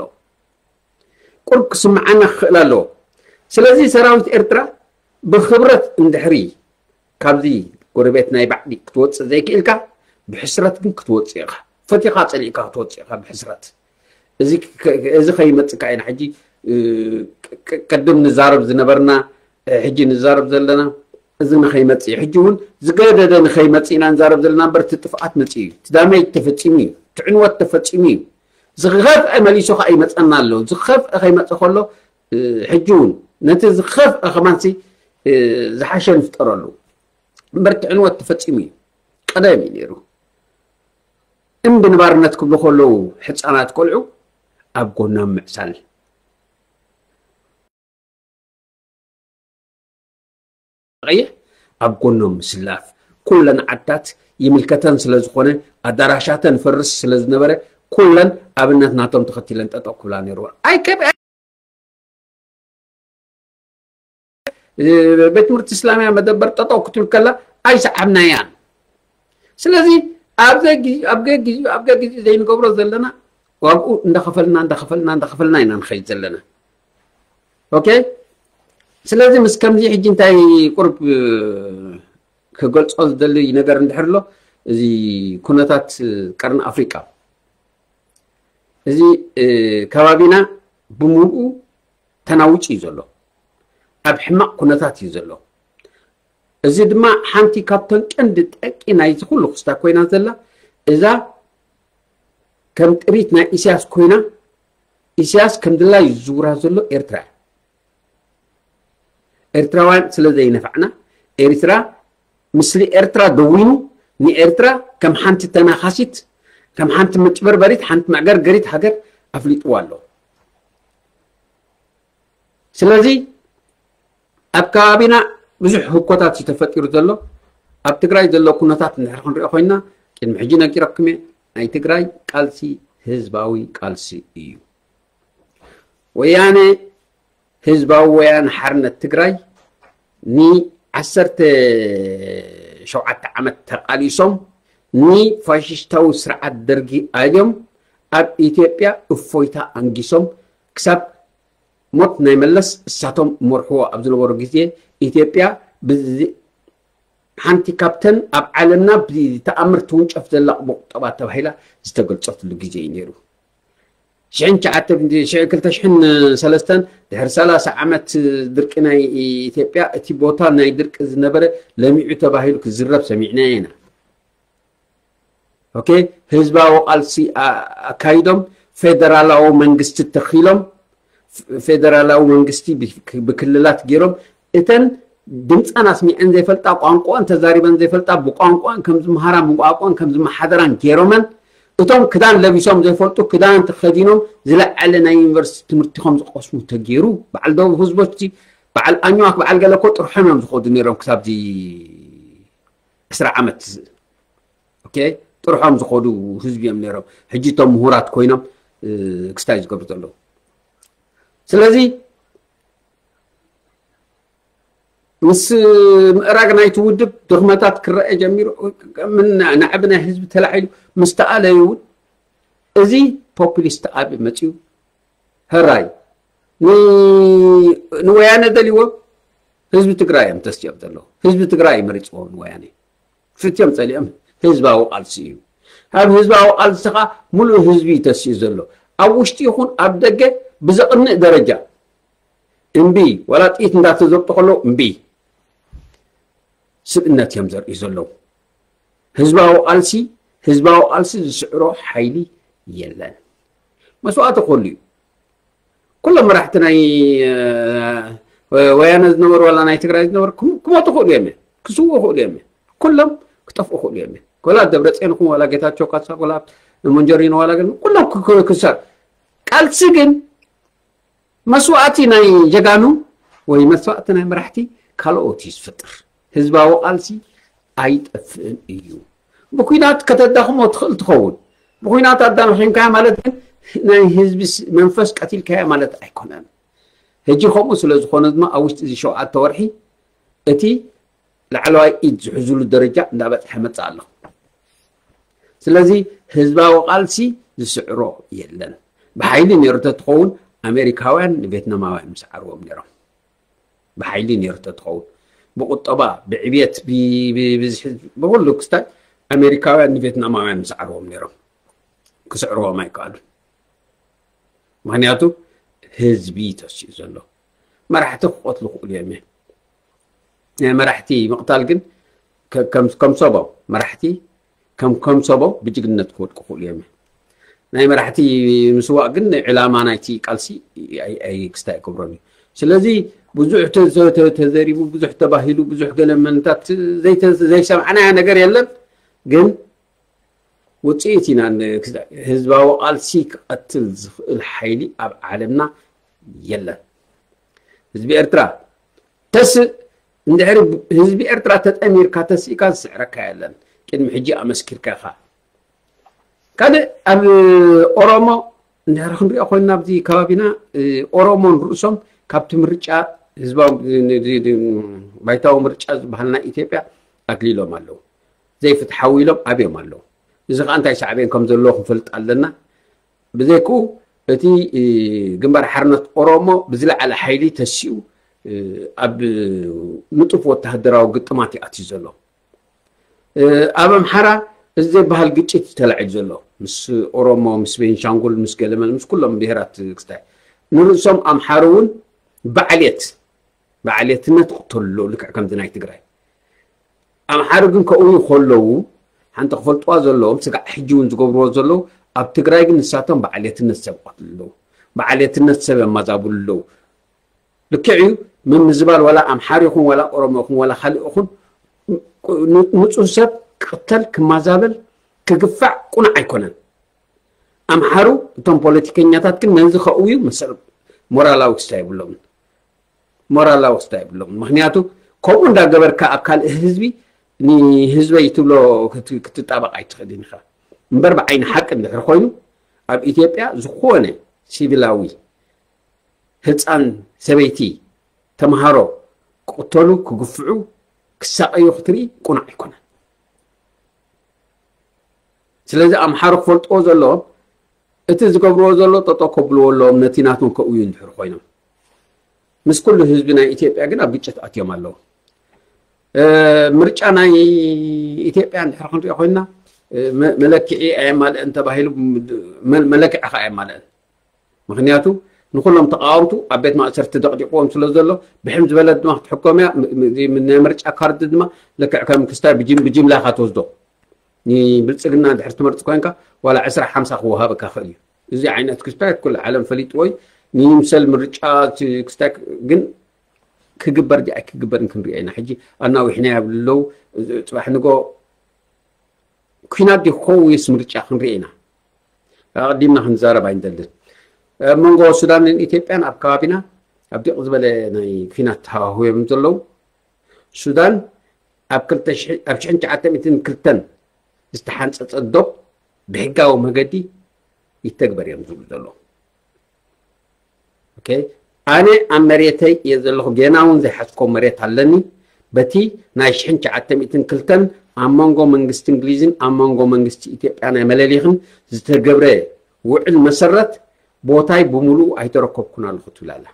ቁሩብ ክስምዓና ክኽእል ኣለዎ። ስለዚ ሰራዊት ኤርትራ ብኽብረት እንድሕሪ ካብዚ ጎረቤት ናይ ባዕዲ ክትወፅእ ዘይክእልካ፣ ብሕስረት ግን ክትወፅእ ኢኻ። ፈቲኻ ፀሊእካ ክትወፅእ ኢኻ ብሕስረት። እዚ ከ-፣ እዚ ከይመፅካ ኢና ሕጂ፣ እ፣ ቅ-፣ ቅ-፣ ቅድም ንዛረብ ዝነበርና፣ እ፣ ሕጂ ንዛረብ ዘለና፣ እዚ ንኸይመፅእ እዩ። ሕጂ እውን ዝገደደ ንኸይመፅእ ኢና ንዛረብ ዘለና እምበር፣ እቲ ጥፍኣት መፅኡ እዩ። እቲ ዳሜጅ ተፈፂሙ እዩ። እቲ ዕንወት ተፈፂሙ እዩ። ዝኸፍአ መሊሱ ኸዓ ይመፀና ኣሎ። ዝኸፍአ ከይመፀ ከሎ፣ እ፣ ሕጂ እውን ነቲ ዝኸፍአ ከማንሲ፣ እ፣ ዝሓሸ ንፍጠረሉ። እምበር እቲ ዕንወት ተፈፂሙ እዩ። ቀደም እዩ ነይሩ። እምቢ ንባርነት ክብሉ ከለዉ ሕፃናት ቆልዑ ኣብ ጎኖም ምዕሳል። ቀይሕ ኣብ ጎኖም ምስላፍ። ኩለን ዓድታት ይምልከተን ስለ ዝኾነ፣ ኣዳራሻተን ፈርስ ስለ ዝነበረ፣ ኩለን ኣብነት ናቶም ተኸቲለን ጠጠው ክብላ ነይርወን። ኣይከ-፣ እ፣ ቤት ትምህርቲ እስላምያ መደበር ጠጠው ክትብል ከላ ኣይሰዓብናያን። ስለዚ ኣብ ዘጊ-፣ ኣብ ገጊ-፣ ኣብ ገጊ ዘይንገብሮ ዘለና ዋግኡ እንዳኸፈልና፣ እንዳኸፈልና፣ እንዳኸፈልና ኢና ንኸይድ ዘለና። ኦኬ? ስለዚ ምስ ከምዚ ሕጂ እንታይ ቁርብ፣ እ፣ ክገልጾ ዝደሊ ነገር እንድሕር ኣሎ፣ እዚ ኩነታት ቀርኒ ኣፍሪቃ፣ እዚ፣ እ፣ ከባቢና ብምሉኡ ተናዊጹ እዩ ዘሎ። ኣብ ሕማቕ ኩነታት እዩ ዘሎ። እዚ ድማ ሓንቲ ካብተን ቀንዲ ጠቂ ናይዚ ኩሉ ክስታ ኮይና ዘላ፣ እዛ ከም ጥሪት ናይ ኢሳያስ ኮይና፣ ኢሳያስ ከም ድላይ ዝዝውራ ዘሎ ኤርትራ እያ። ኤርትራውያን ስለ ዘይነፋዕና፣ ኤርትራ፣ ምስሊ ኤርትራ ደዊኑ፣ ንኤርትራ ከም ሓንቲ ተናኻሲት፣ ከም ሓንቲ መጭበርበሪት፣ ሓንቲ መዕገርገሪት ሃገር ኣፍሊጥዋ ኣሎ። ስለዚ ኣብ ከባቢና ብዙሕ ህኮታት እዩ ተፈጢሩ ዘሎ። ኣብ ትግራይ ዘሎ ኩነታት እንድሕር ክንሪኦ ኮይንና፣ ቅድሚ ሕጂ ነጊረኩም እየ፣ ናይ ትግራይ ቃልሲ ህዝባዊ ቃልሲ እዩ። ወያነ፣ ህዝባዊ ወያነ ሓርነት ትግራይ፣ ንዓሰርተ ሸውዓተ ዓመት ተቓሊሶም፣ ንፋሽስታዊ ስርዓት ደርጊ ኣልዮም፣ ኣብ ኢትዮጵያ እፎይታ ኣንጊሶም፣ ክሳብ ሞት ናይ መለስ እሳቶም መርሕዎ ኣብ ዝነበሩ ግዜ፣ ኢትዮጵያ ብዚ-፣ ሓንቲ ካብተን ኣብ ዓለምና ብተኣምር ትውንጨፍ ዘላ ቁጠባ ተባሂላ ዝተገልጸትሉ ግዜ እዩ ነይሩ። ሽሕን ትሽዓተ፣ ሽሕ-፣ ክልተ ሽሕን ሰለስተን፣ ድሕሪ ሰላሳ ዓመት ድርቂ ናይ ኢትዮጵያ፣ እቲ ቦታ ናይ ድርቂ ዝነበረ ለሚዑ ተባሂሉ ክዝረብ ሰሚዕናዮ ኢና። ኦኬ፣ ህዝባዊ ቃልሲ ኣ-፣ ኣካይዶም፣ ፌደራላዊ መንግስቲ ተኺሎም፣ ፍ-፣ ፌደራላዊ መንግስቲ ብ-፣ ብክልላት ገይሮም፣ እተን ድምፀን ኣስሚዐን ዘይፈልጣ፣ ቋንቋን ተዛሪበን ዘይፈልጣ፣ ብቋንቋን ከም ዝምሃራን ብቋንቋን ከም ዝመሓደራን ገይሮመን፣ እቶም ክዳን ለቢሶም ዘይፈልጡ ክዳን ተኸዲኖም ዝለዓለ ናይ ዩኒቨርሲቲ ትምህርቲ ከም ዝቐስሙ ተገይሩ፣ በዓል ደቡብ ህዝቦች፣ በዓል ኣኝዋክ፣ በዓል ገለ እኮ ጥርሖም እዮም ዝኸዱ ነይሮም ክሳብዚ ዕስራ ዓመት። ኦኬ፣ ጥርሖም ዝኸዱ ህዝቢ እዮም ነይሮም። ሕጂ እቶም ምሁራት ኮይኖም፣ እ፣ ክስታይ ዝገብሩ ዘለዉ። ስለዚ ምስ ምእራግ ናይቲ ውድብ ድኽመታት ክረአ ጀሚሩ፣ ምን ናዕቢ ናይ ህዝቢ ተላዒሉ ምስ ተኣለዩ እውን፣ እዚ ፖፑሊስት ኣብ መፅዩ፣ ህራይ ን-፣ ንወያነ ደልይዎ ህዝቢ ትግራይ እዮም ተስዮም ዘለዉ። ህዝቢ ትግራይ እዩ መሪፅዎ ንወያነ። ፍትዮም ፀሊኦም ህዝባዊ ቃልሲ እዩ። ኣብ ህዝባዊ ቃልሲ ከዓ ሙሉእ ህዝቢ እዩ ተስዩ ዘሎ። ኣብ ውሽጢ ይኹን ኣብ ደገ ብዘቕንእ ደረጃ እምቢ፣ ዋላ ጥይት እንዳተዘብጡ ከለዉ እምቢ። ስብእነት እዮም ዘርእዩ ዘለዉ። ህዝባዊ ቃልሲ ህዝባዊ ቃልሲ ዝስዕሮ ሓይሊ የለን። መስዋእቲ ክህሉ እዩ። ኩሎም መራሕቲ ናይ ወያነ ዝነበሩ ዋላ ናይ ትግራይ ዝነበሩ ክሞቱ ክእሉ እዮም፣ ክስውኡ ክእሉ እዮም፣ ኩሎም ክጠፍኡ ክእሉ እዮም። ኮላ ደብረፅዮን ይኹን ዋላ ጌታቸው ካሳ ኮላ መንጀሪኖ ዋላ ግን ኩሎም ክሰር ቃልሲ ግን መስዋእቲ ናይ ጀጋኑ ወይ መስዋእቲ ናይ መራሕቲ ካልኦት እዩ ዝፈጥር። ህዝባዊ ቃልሲ ኣይጠፍእን እዩ። ብኩናት ከተዳኽሞ ትኽእል ትኸውን። ብኩናት ኣዳኺምካያ ማለት ግን ናይ ህዝቢ መንፈስ ቀቲልካያ ማለት ኣይኮነን። ሕጂ ከምኡ ስለ ዝኾነ ድማ ኣብ ውሽጢ እዚ ሸውዓተ ወርሒ እቲ ላዕለዋይ ኢድ ዝሕዝሉ ደረጃ እንዳበፅሐ መፅእ ኣሎ። ስለዚ ህዝባዊ ቃልሲ ዝስዕሮ የለን። ብሓይሊ ነይሩ ተትኸውን ኣሜሪካውያን ንቬትናማውያን ምስዓርዎም ነይሮም። ብሓይሊ ነይሩ ተትኸውን ብቁጠባ ብዕብየት ብዝሒ ብኩሉ ክስታይ ኣሜሪካውያን ንቬትናማውያን ምስዓርዎም ነይሮም። ክስዕርዎም ኣይከኣሉን። ምክንያቱ ህዝቢ ተሲኡ ዘሎ መራሕቲ ክቆትሉ ክእሉ እዮም። ናይ መራሕቲ ምቕታል ግን ከም ሰቦም መራሕቲ ከም ከም ሰቦም ብጅግንነት ክወድቁ ክእሉ እዮም። ናይ መራሕቲ ምስዋእ ግን ዕላማ ናይቲ ቃልሲ ክስታይ ኣይገብሮን እዩ። ስለዚ ብዙሕ ተዘሪቡ፣ ብዙሕ ተባሂሉ፣ ብዙሕ ገለ መንታት ዘይሰማዕናዮ ነገር የለን። ግን ውፅኢት ኢና። ህዝባዊ ቃልሲ ክቐትል ዝኽእል ሓይሊ ኣብ ዓለምና የለን። ህዝቢ ኤርትራ ተስእ እንድሕሪ ህዝቢ ኤርትራ ተጠሚርካ ተስእካ ዝስዕረካ የለን። ቅድሚ ሕጂ ኣመስኪርካ ኢኻ። ካልእ ኣብ ኦሮሞ እንድሕሪ ክንሪኦ ኮይንና ኣብዚ ከባቢና ኦሮሞን ርእሶም ካብቲ ምርጫ ህዝባዊ ባይታዊ ምርጫ ዝበሃል ናይ ኢትዮጵያ ኣግሊሎም ኣለዉ። ዘይፍትሓዊ ኢሎም ኣብዮም ኣለዉ። እዚ ከዓ እንታይ ሳዕቤን ከም ዘለዎ ክንፈልጥ ኣለና። ብዘይክኡ እቲ ግንባር ሓርነት ኦሮሞ ብዝለዓለ ሓይሊ ተሲኡ ኣብ ንጡፍ ወተሃደራዊ ግጥማት ይኣትዩ ዘሎ። ኣብ ኣምሓራ እዚ ዘይበሃል ግጭት እዩ ተላዒሉ ዘሎ ምስ ኦሮሞ ምስ ቤንሻንጉል ምስ ገለመል ምስ ኩሎም ብሄራት ክስታይ ንርእሶም ኣምሓሩ እውን ባዕሌት ባዕሌትነት ይቕተሉ ኣለዉ ልክዕ ከምዚ ናይ ትግራይ። ኣምሓሩ ግን ከእውዩ ከለዉ ሓንቲ ክፈልጥዋ ዘለዎም ስጋዕ ሕጂ እውን ዝገብርዎ ዘለዉ ኣብ ትግራይ ግን ንሳቶም ባዕሌትነት ሰብ ይቐትሉ ኣለዉ። ባዕሌትነት ሰብ የማዛብሉ ኣለዉ። ልክዕ እዩ ምምዝባል ዋላ ኣምሓሩ ይኹን ዋላ ኦሮሞ ይኹን ዋላ ካልእ ይኹን ንፁህ ሰብ ክቕተል ክማዛበል ክግፋዕ ቁኑዕ ኣይኮነን። ኣምሓሩ እቶም ፖለቲከኛታት ግን ነዚ ከእውዩ መሰል ሞራላዊ ክስታይ የብሎምን። ሞራላዊ ክስታይ የብሎምን። ምክንያቱ ከምኡ እንዳገበርካ ኣብ ካልእ ህዝቢ ንህዝበይ ትብሎ ክትጣበቕ ኣይትኽእልን ኢኻ። እምበር ብዓይኒ ሓቂ እንድሕር ኮይኑ ኣብ ኢትዮጵያ ዝኾነ ሲቪላዊ ህፃን ሰበይቲ ተምሃሮ ክቕተሉ ክግፍዑ ክሳቐዩ ክትርኢ ቁኑዕ ኣይኮነን። ስለዚ ኣምሓሩ ክፈልጥዎ ዘለዎም እቲ ዝገብርዎ ዘሎ ጠጠው ከብልዎ ኣለዎም ነቲ ናቶም ከእውዩ እንድሕር ኮይኖም። ምስ ኩሉ ህዝቢ ናይ ኢትዮጵያ ግን ኣብ ግጭት ኣትዮም ኣለዉ። ምርጫ ናይ ኢትዮጵያ እንድሕር ክንሪኦ ኮይንና መለክዒ ኣየማልአን ተባሂሉ መለክዒ ከዓ ኣየማልአን። ምክንያቱ ንኩሎም ተቃወምቱ ኣብ ቤት ማእሰርቲ ደቕዲቕዎም ስለ ዘሎ ብሕም ዝበለት ድማ ክትሕከም እያ። ናይ ምርጫ ካርድ ድማ ልክዕ ከም ክስታይ ብጅምላ ኢካ ትወስዶ። ንብልፅግና ድሕር ትመርፅ ኮይንካ ዋላ ዕስራ ሓምሳ ክወሃበካ ክእል እዩ። እዚ ዓይነት ክስታይ ኩሉ ዓለም ፈሊጥዎ እዩ። ንይምሰል ምርጫ ክስታይ ግን ክግበር ድዩ ኣይክግበርን ክንሪኦ ኢና። ሕጂ ኣናዊሕና የብሉ ኣለዉ። ፅባሕ ንጎ ኩናት ድዩ ክኸውን ወይስ ምርጫ ክንርኢ ኢና። ኣቐዲምና ክንዛረብ ኣይንደልን። ኣብ መንጎ ሱዳንን ኢትዮጵያን ኣብ ከባቢና ኣብ ዲቕ ዝበለ ናይ ኩናት ሃዋህው እዮም ዘለዉ። ሱዳን ኣብ ሽሕን ትሽዓተ ሚእትን ክልተን ዝተሓንፀፀ ዶብ ብሕጋዊ መገዲ ይተግበር እዮም ዝብሉ ዘለዉ። ኣነ ኣብ መሬተይ እየ ዘለኹ፣ ጌና እውን ዘይሓዝኮ መሬት ኣለኒ። በቲ ናይ ሽሕን ትሽዓተ ሚእትን ክልተን ኣብ መንጎ መንግስቲ እንግሊዝን ኣብ መንጎ መንግስቲ ኢትዮጵያ ናይ መለሊኽን ዝተገብረ ውዕል መሰረት ቦታይ ብምሉኡ ኣይተረከብኩን ኣለኹ ትብል ኣላ።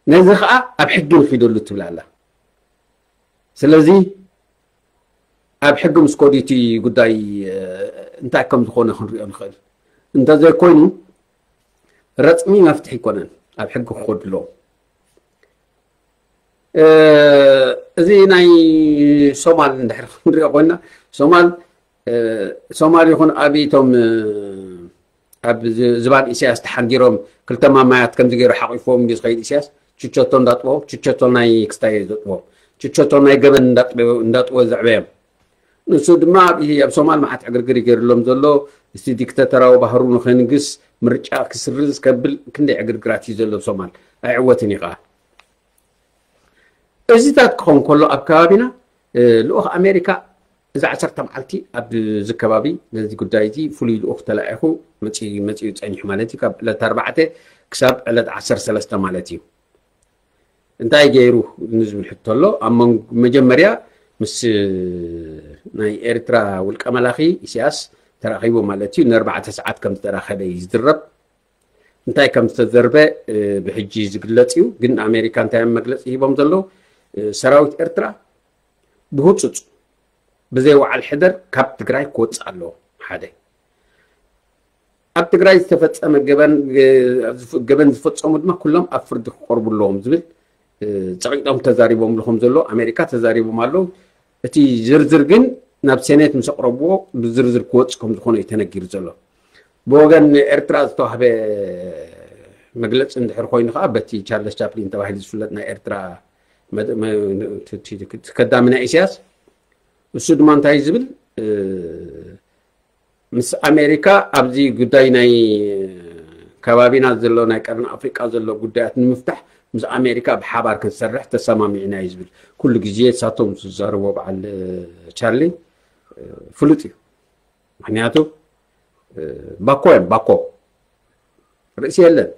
ነዚ ከዓ ኣብ ሕጊ ንኺደሉ ትብል ኣላ። ስለዚ ኣብ ሕጊ ምስ ከዱ እቲ ጉዳይ እንታይ ከም ዝኾነ ክንሪኦ ንኽእል። እንተዘይኮይኑ ረፅሚ መፍትሒ ኣይኮነን ኣብ ሕጊ ክኸዱ ኣለዎም። እዚ ናይ ሶማል እንድሕር ክንሪኦ ኮይና፣ ሶማል ሶማል ይኹን ኣብ እቶም ኣብ ዝባን ኢሳያስ ተሓንጊሮም ክልተ ማማያት ከምዚ ገይሩ ሓቂፍዎም እንዲ ዝኸይድ ኢሳያስ፣ ችቸቶ እንዳጥቦ፣ ችቸቶ ናይ ክስታይ ዘጥቦ፣ ችቸቶ ናይ ገበን እንዳጥቦ ዘዕበዮም። ንሱ ድማ ኣብ ሶማል መዓት ዕግርግር ይገይርሎም ዘሎ። እስቲ ዲክተተራዊ ባህሩ ንኸንግስ፣ ምርጫ ክስርዝ ከብል ክንደይ ዕግርግራት እዩ ዘሎ ኣብ ሶማል። ኣይዕወትን እዩ ከዓ። እዚታት ክኸውን ከሎ ኣብ ከባቢና ልኡኽ ኣሜሪካ እዚ ዓሰርተ መዓልቲ ኣብዚ ከባቢ ነዚ ጉዳይ እዚ ፍሉይ ልኡኽ ተላኢኹ መፂኡ ጸኒሑ ማለት እዩ። ካብ ዕለት ኣርባዕተ ክሳብ ዕለት ዓሰርተ ሰለስተ ማለት እዩ። እንታይ ገይሩ ንዝብል ሕቶ ኣሎ። ኣብ መጀመርያ ምስ ናይ ኤርትራ ውልቀ መላኺ ኢሳያስ ተራኺቡ ማለት እዩ። ንኣርባዕተ ሰዓት ከም ዝተራኸበ እዩ ዝድረብ። እንታይ ከም ዝተዘርበ ብሕጂ ዝግለጽ እዩ። ግን ኣሜሪካ እንታይ እዮም መግለጺ ሂቦም ዘለዉ? ሰራዊት ኤርትራ ብህጹጽ ብዘይ ወዓል ሕደር ካብ ትግራይ ክወጽእ ኣለዎ። ሓደ ኣብ ትግራይ ዝተፈጸመ ገበን ዝፈጸሙ ድማ ኩሎም ኣብ ፍርዲ ክቀርቡ ኣለዎም ዝብል ጸቂጦም ተዛሪቦምሉ ከም ዘሎ ኣሜሪካ ተዛሪቦም ኣለዉ። እቲ ዝርዝር ግን ናብ ሴኔት ምስ ኣቕረብዎ ብዝርዝር ክወጽእ ከም ዝኾነ እዩ ተነጊሩ ዘሎ። ብወገን ኤርትራ ዝተዋህበ መግለፂ እንድሕር ኮይኑ ከዓ በቲ ቻርለስ ቻፕሊን ተባሂሉ ዝፍለጥ ናይ ኤርትራ ከዳሚ ናይ ኢሳያስ እሱ ድማ እንታይ ዝብል ምስ ኣሜሪካ ኣብዚ ጉዳይ ናይ ከባቢና ዘሎ ናይ ቀርኒ ኣፍሪቃ ዘሎ ጉዳያት ንምፍታሕ ምስ ኣሜሪካ ብሓባር ክንሰርሕ ተሰማሚዕና እዩ ዝብል። ኩሉ ግዜ ሳቶም ዝዛረቦ በዓል ቻርሊ ፍሉጥ እዩ። ምክንያቱ ባኮ እዮም ባኮ ርእሲ የለን።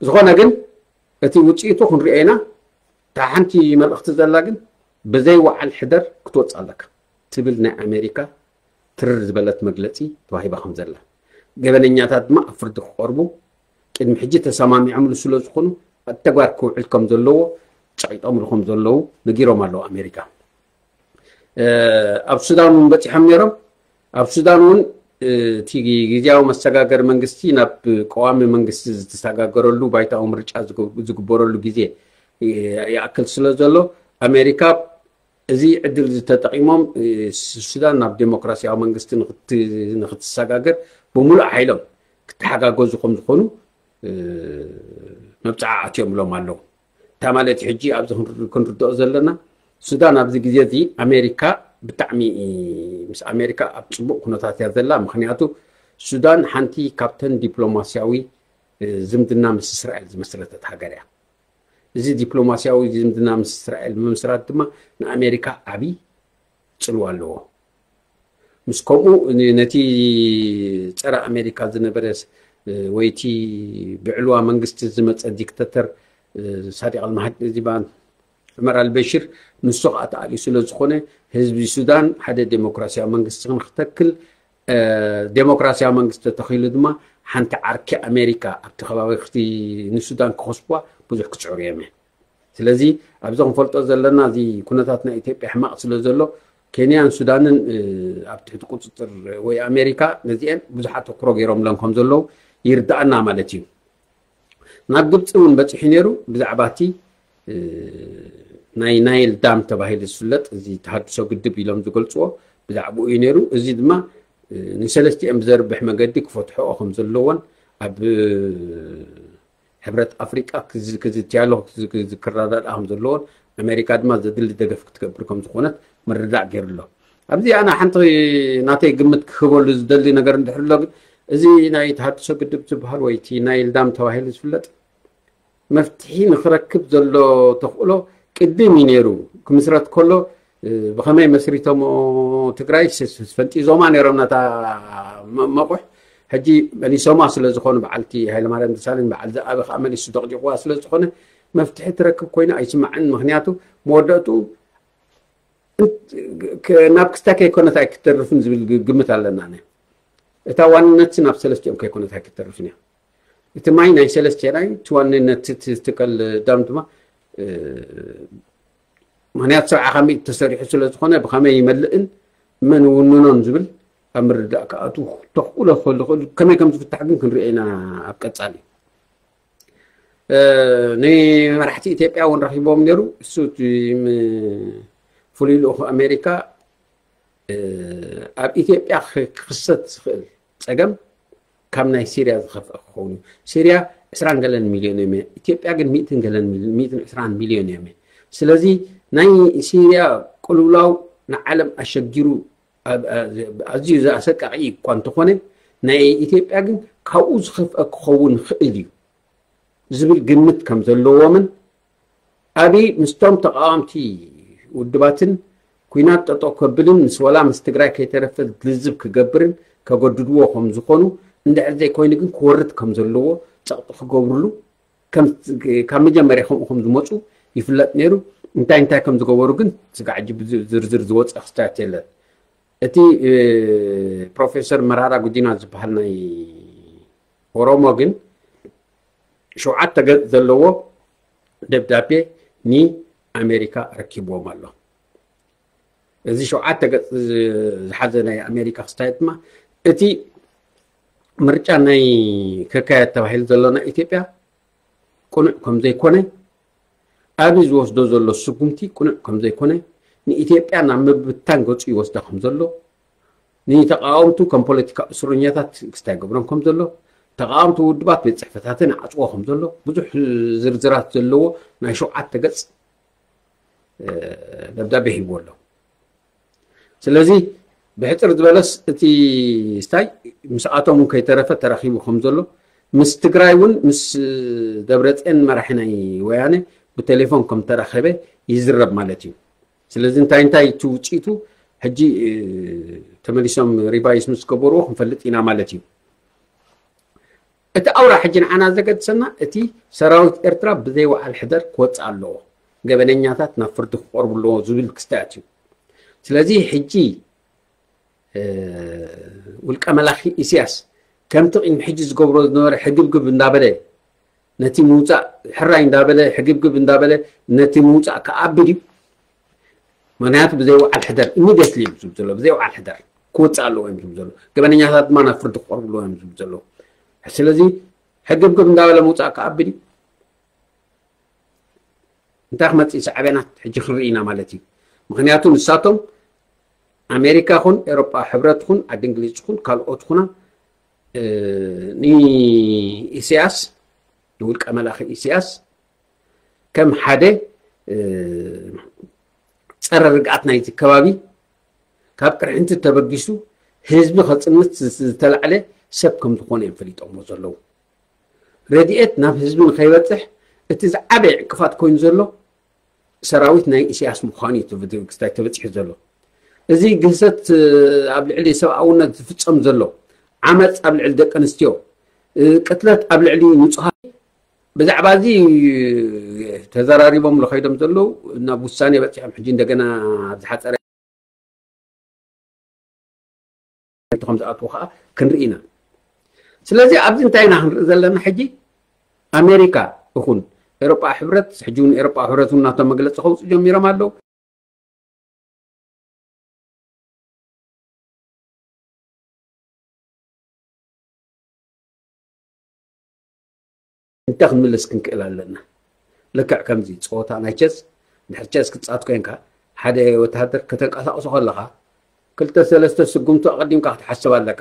ዝኾነ ግን እቲ ውፅኢቱ ክንሪኦ ኢና። እታ ሓንቲ መልእኽቲ ዘላ ግን ብዘይ ወዓል ሕደር ክትወፅእ ኣለካ ትብል ናይ ኣሜሪካ ትርር ዝበለት መግለፂ ተዋሂባ ከም ዘላ፣ ገበነኛታት ድማ ኣብ ፍርዲ ክቐርቡ ቅድሚ ሕጂ ተሰማሚዖምሉ ስለ ዝኾኑ ኣብ ተግባር ክውዕል ከም ዘለዎ ጨቂጦምሉ ከም ዘለዉ ነጊሮም ኣለዉ ኣሜሪካ። ኣብ ሱዳን እውን በፂሖም ነይሮም። ኣብ ሱዳን እውን እቲ ግዝያዊ መሰጋገሪ መንግስቲ ናብ ቀዋሚ መንግስቲ ዝተሰጋገረሉ ባይታዊ ምርጫ ዝግበረሉ ግዜ ይኣክል ስለ ዘሎ ኣሜሪካ እዚ ዕድል ዝተጠቂሞም ሱዳን ናብ ዴሞክራሲያዊ መንግስቲ ንክትሰጋገር ብምሉእ ሓይሎም ክተሓጋገዙ ከም ዝኾኑ መብፅዓ ኣትዮምሎም ኣለዉ። እታ ማለት ሕጂ ኣብዚ ክንርድኦ ዘለና ሱዳን ኣብዚ ግዜ እዚ ኣሜሪካ ብጣዕሚ ምስ ኣሜሪካ ኣብ ፅቡቅ ኩነታት እያ ዘላ። ምክንያቱ ሱዳን ሓንቲ ካብተን ዲፕሎማሲያዊ ዝምድና ምስ እስራኤል ዝመስረተት ሃገር እያ። እዚ ዲፕሎማሲያዊ ዝምድና ምስ እስራኤል ምምስራት ድማ ንኣሜሪካ ዓብዪ ፅልዋ ኣለዎ። ምስ ከምኡ ነቲ ፀረ ኣሜሪካ ዝነበረ ወይ እቲ ብዕልዋ መንግስቲ ዝመፀ ዲክተተር ሳዲቅ ኣልማሃዲ ዚባን ዑመር ኣልበሽር ንሱ ከዓ ተኣልዩ ስለ ዝኾነ ህዝቢ ሱዳን ሓደ ዴሞክራሲያዊ መንግስቲ ንክተክል ዴሞክራሲያዊ መንግስቲ ተተኺሉ ድማ ሓንቲ ዓርኪ ኣሜሪካ ኣብቲ ከባቢ ንሱዳን ክኸስብዋ ብዙሕ ክፅዕሩ እዮም። ስለዚ ኣብዚ ክንፈልጦ ዘለና እዚ ኩነታት ናይ ኢትዮጵያ ሕማቕ ስለ ዘሎ ኬንያን ሱዳንን ኣብ ትሕቲ ቁፅፅር ወይ ኣሜሪካ ነዚአን ብዙሕ ኣተኩሮ ገይሮምለን ከም ዘለዉ ይርዳኣና ማለት እዩ። ናብ ግብፂ እውን በፂሑ ነይሩ። ብዛዕባ እቲ ናይ ናይል ዳም ተባሂሉ ዝፍለጥ እዚ ተሃድሶ ግድብ ኢሎም ዝገልፅዎ ብዛዕባኡ እዩ ነይሩ። እዚ ድማ ንሰለስቲኦም ብዘርብሕ መገዲ ክፈትሕኦ ከም ዘለዎን ኣብ ሕብረት ኣፍሪቃ ክዝትያሎ ክረዳድኣ ከም ዘለዎን ኣሜሪካ ድማ ዘድሊ ደገፍ ክትገብር ከም ዝኾነት ምርዳእ ገይሩ ኣሎ። ኣብዚ ኣነ ሓንቲ ናተይ ግምት ክህበሉ ዝደሊ ነገር እንድሕር ኣሎ ግን እዚ ናይ ተሃድሶ ግድብ ዝበሃል ወይ እቲ ናይል ዳም ተባሂሉ ዝፍለጥ መፍትሒ ንክረክብ ዘሎ ተኽእሎ ቅድም እዩ ነይሩ። ክምስረት ከሎ ብኸመይ መስሪቶሞ ትግራይ ፈንጢዞማ ነይሮም ነታ መቑሕ። ሕጂ መሊሶማ ስለ ዝኾኑ በዓልቲ ሃይለማርያም ደሳለኝ በዓል ዝኣበ ከዓ መሊሱ ደቕዲቑዋ ስለ ዝኾነ መፍትሒ ትረክብ ኮይና ኣይስማዕን። ምክንያቱ መወዳእቱ ናብ ክስታይ ከይኮነት ኣይክተርፍን ዝብል ግምት ኣለና። እታ ዋንነት ናብ ሰለስቲኦም ከይኮነት ኣይክተርፍን እያ። እቲ ማይ ናይ ሰለስቲና እዩ። እቲ ዋንነት ትከል ዳም ድማ ምክንያት ሰብዓ ከሚእ ተሰሪሑ ስለ ዝኾነ ብኸመይ ይመልእን መን ውንኖን ዝብል ኣብ ምርዳእ ክኣትዉ ተኽእሎ ክህሉ ክእል። ከመይ ከም ዝፍታሕ ግን ክንሪኦ ኢና ኣብ ቀጻሊ። ንመራሕቲ ኢትዮጵያ እውን ረኺቦም ነይሩ። እሱ እቲ ም- ፍሉይ ልኡኽ ኣሜሪካ ኣብ ኢትዮጵያ ክክሰት ዝኽእል ፀገም ካብ ናይ ሲርያ ዝኸፍአ ክኸውን እዩ። ሲርያ ዕስራን ገለን ሚልዮን እዮም። ኢትዮጵያ ግን ሚእትን ገለን ሚልዮን ሚእትን ዕስራን ሚልዮን እዮም። ስለዚ ናይ ሲርያ ቅልውላው ንዓለም ኣሸጊሩ ኣዝዩ ዘኣሰቃቂ እኳ እንተኾነ ናይ ኢትዮጵያ ግን ካብኡ ዝኸፍአ ክኸውን ይኽእል እዩ ዝብል ግምት ከም ዘለዎምን ኣብይ ምስቶም ተቃወምቲ ውድባትን ኩናት ጠጠው ከብልን ምስ ወላ ምስ ትግራይ ከይተረፈ ልዝብ ክገብርን ከገድድዎ ከም ዝኾኑ እንድሕር ዘይኮይኑ ግን ክወርድ ከም ዘለዎ ፀቕጢ ክገብርሉ ካብ መጀመርያ ከምኡ ከም ዝመፁ ይፍለጥ ነይሩ። እንታይ እንታይ ከም ዝገበሩ ግን ስጋዕ ሕጂ ዝርዝር ዝወፀ ክስታት የለን። እቲ ፕሮፌሰር መራራ ጉዲና ዝበሃል ናይ ኦሮሞ ግን ሸውዓተ ገፅ ዘለዎ ደብዳቤ ንኣሜሪካ ረኪብዎም ኣሎ። እዚ ሸውዓተ ገፅ ዝሓዘ ናይ ኣሜሪካ ክስታየት ድማ እቲ ምርጫ ናይ ክካየድ ተባሂሉ ዘሎ ናይ ኢትዮጵያ ቅኑዕ ከም ዘይኮነ፣ ኣብይ ዝወስዶ ዘሎ ስጉምቲ ቅኑዕ ከም ዘይኮነ፣ ንኢትዮጵያ ናብ ምብታን ገፁ ይወስዳ ከም ዘሎ፣ ንተቃወምቱ ከም ፖለቲካ እስረኛታት ክስታይ ገብሮም ከም ዘሎ፣ ተቃወምቲ ውድባት ቤት ፅሕፈታትን ዓፅዎ ከም ዘሎ ብዙሕ ዝርዝራት ዘለዎ ናይ ሸውዓተ ገፅ ደብዳቤ ሂቡ ኣሎ። ስለዚ ብሕፅር ዝበለስ እቲ ስታይ ምስኣቶም እውን ከይተረፈ ተራኺቡ ከም ዘሎ ምስ ትግራይ እውን ምስ ደብረፅዮን መራሒ ናይ ወያነ ብቴሌፎን ከም ተራኸበ ይዝረብ ማለት እዩ። ስለዚ እንታይ እንታይ እቲ ውፅኢቱ ሕጂ ተመሊሶም ሪቫይስ ምስ ገበርዎ ክንፈልጥ ኢና ማለት እዩ። እቲ ኣውራ ሕጂ ንዓና ዘገድሰና እቲ ሰራዊት ኤርትራ ብዘይ ወዓል ሕደር ክወፅእ ኣለዎ፣ ገበነኛታት ናብ ፍርዲ ክቐርቡ ኣለዎ ዝብል ክስታያት እዩ። ስለዚ ሕጂ ውልቀ መላኺ ኢሳያስ ከምቲ ቅድሚ ሕጂ ዝገብሮ ዝነበረ ሕግብግብ እንዳበለ ነቲ ምውፃእ ሕራይ እንዳበለ ሕግብግብ እንዳበለ ነቲ ምውፃእ ክኣብድ እዩ። ምክንያቱ ብዘይ ወዓል ሕደር ኢሚድየትሊ እዮም ዝብሉ ዘሎ፣ ብዘይ ወዓል ሕደር ክወፅእ ኣለዎ እዮም ዝብሉ ዘሎ። ገበነኛታት ድማ ናብ ፍርዲ ክቐርቡ ኣለዎ እዮም ዝብሉ ዘለዉ። ስለዚ ሕግብግብ እንዳበለ ምውፃእ ክኣብል እዩ። እንታይ ክመፅእ ሳዕቤናት ሕጂ ክንርኢ ኢና ማለት እዩ። ምክንያቱ ንሳቶም ኣሜሪካ ኹን ኤሮጳ ሕብረት ኹን ዓዲ እንግሊዝ ኹን ካልኦት ኹና ንኢሳያስ ንውልቀ መላኺ ኢሳያስ ከም ሓደ ፀረ ርግኣት ናይቲ ከባቢ ካብ ቅርሕንቲ ተበጊሱ ህዝቢ ከፅንት ዝተላዕለ ሰብ ከም ዝኾነ እዮም ፈሊጦሞ ዘለዉ። ረድኤት ናብ ህዝቢ ንኸይበፅሕ እቲ ዝዓበየ ዕንቅፋት ኮይኑ ዘሎ ሰራዊት ናይ ኢሳያስ ምዃኑ እዩ ተበ- ክስታይ ተበፂሑ ዘሎ። እዚ ግህሰት ኣብ ልዕሊ ሰብኣውነት ዝፍፀም ዘሎ ዓመፅ ኣብ ልዕሊ ደቂ ኣንስትዮ ቅትለት ኣብ ልዕሊ ንፁሃት ብዛዕባ እዚ ተዘራሪቦም ከይዶም ዘለዉ ናብ ውሳኔ በፂሖም ሕጂ እንደገና ኣብ ዝሓፀረ ከም ዝኣትዉ ከዓ ክንርኢ ኢና። ስለዚ ኣብዚ እንታይ ኢና ክንርኢ ዘለና ሕጂ ኣሜሪካ ይኹን ኤሮጳ ሕብረት ሕጂ እውን ኤሮጳ ሕብረት እውን ናቶም መግለፂ ከውፅኡ ጀሚሮም ኣለዉ። እንታይ ክንምልስ ክንክእል ኣለና? ልክዕ ከምዚ ፀወታ ናይ ቸስ ድሕሪ ቸስ ክትፃወት ኮንካ ሓደ ወታሃደር ከተንቀሳቕሶ ከለኻ ክልተ ሰለስተ ስጉምቲ ኣቐዲምካ ክትሓስብ ኣለካ።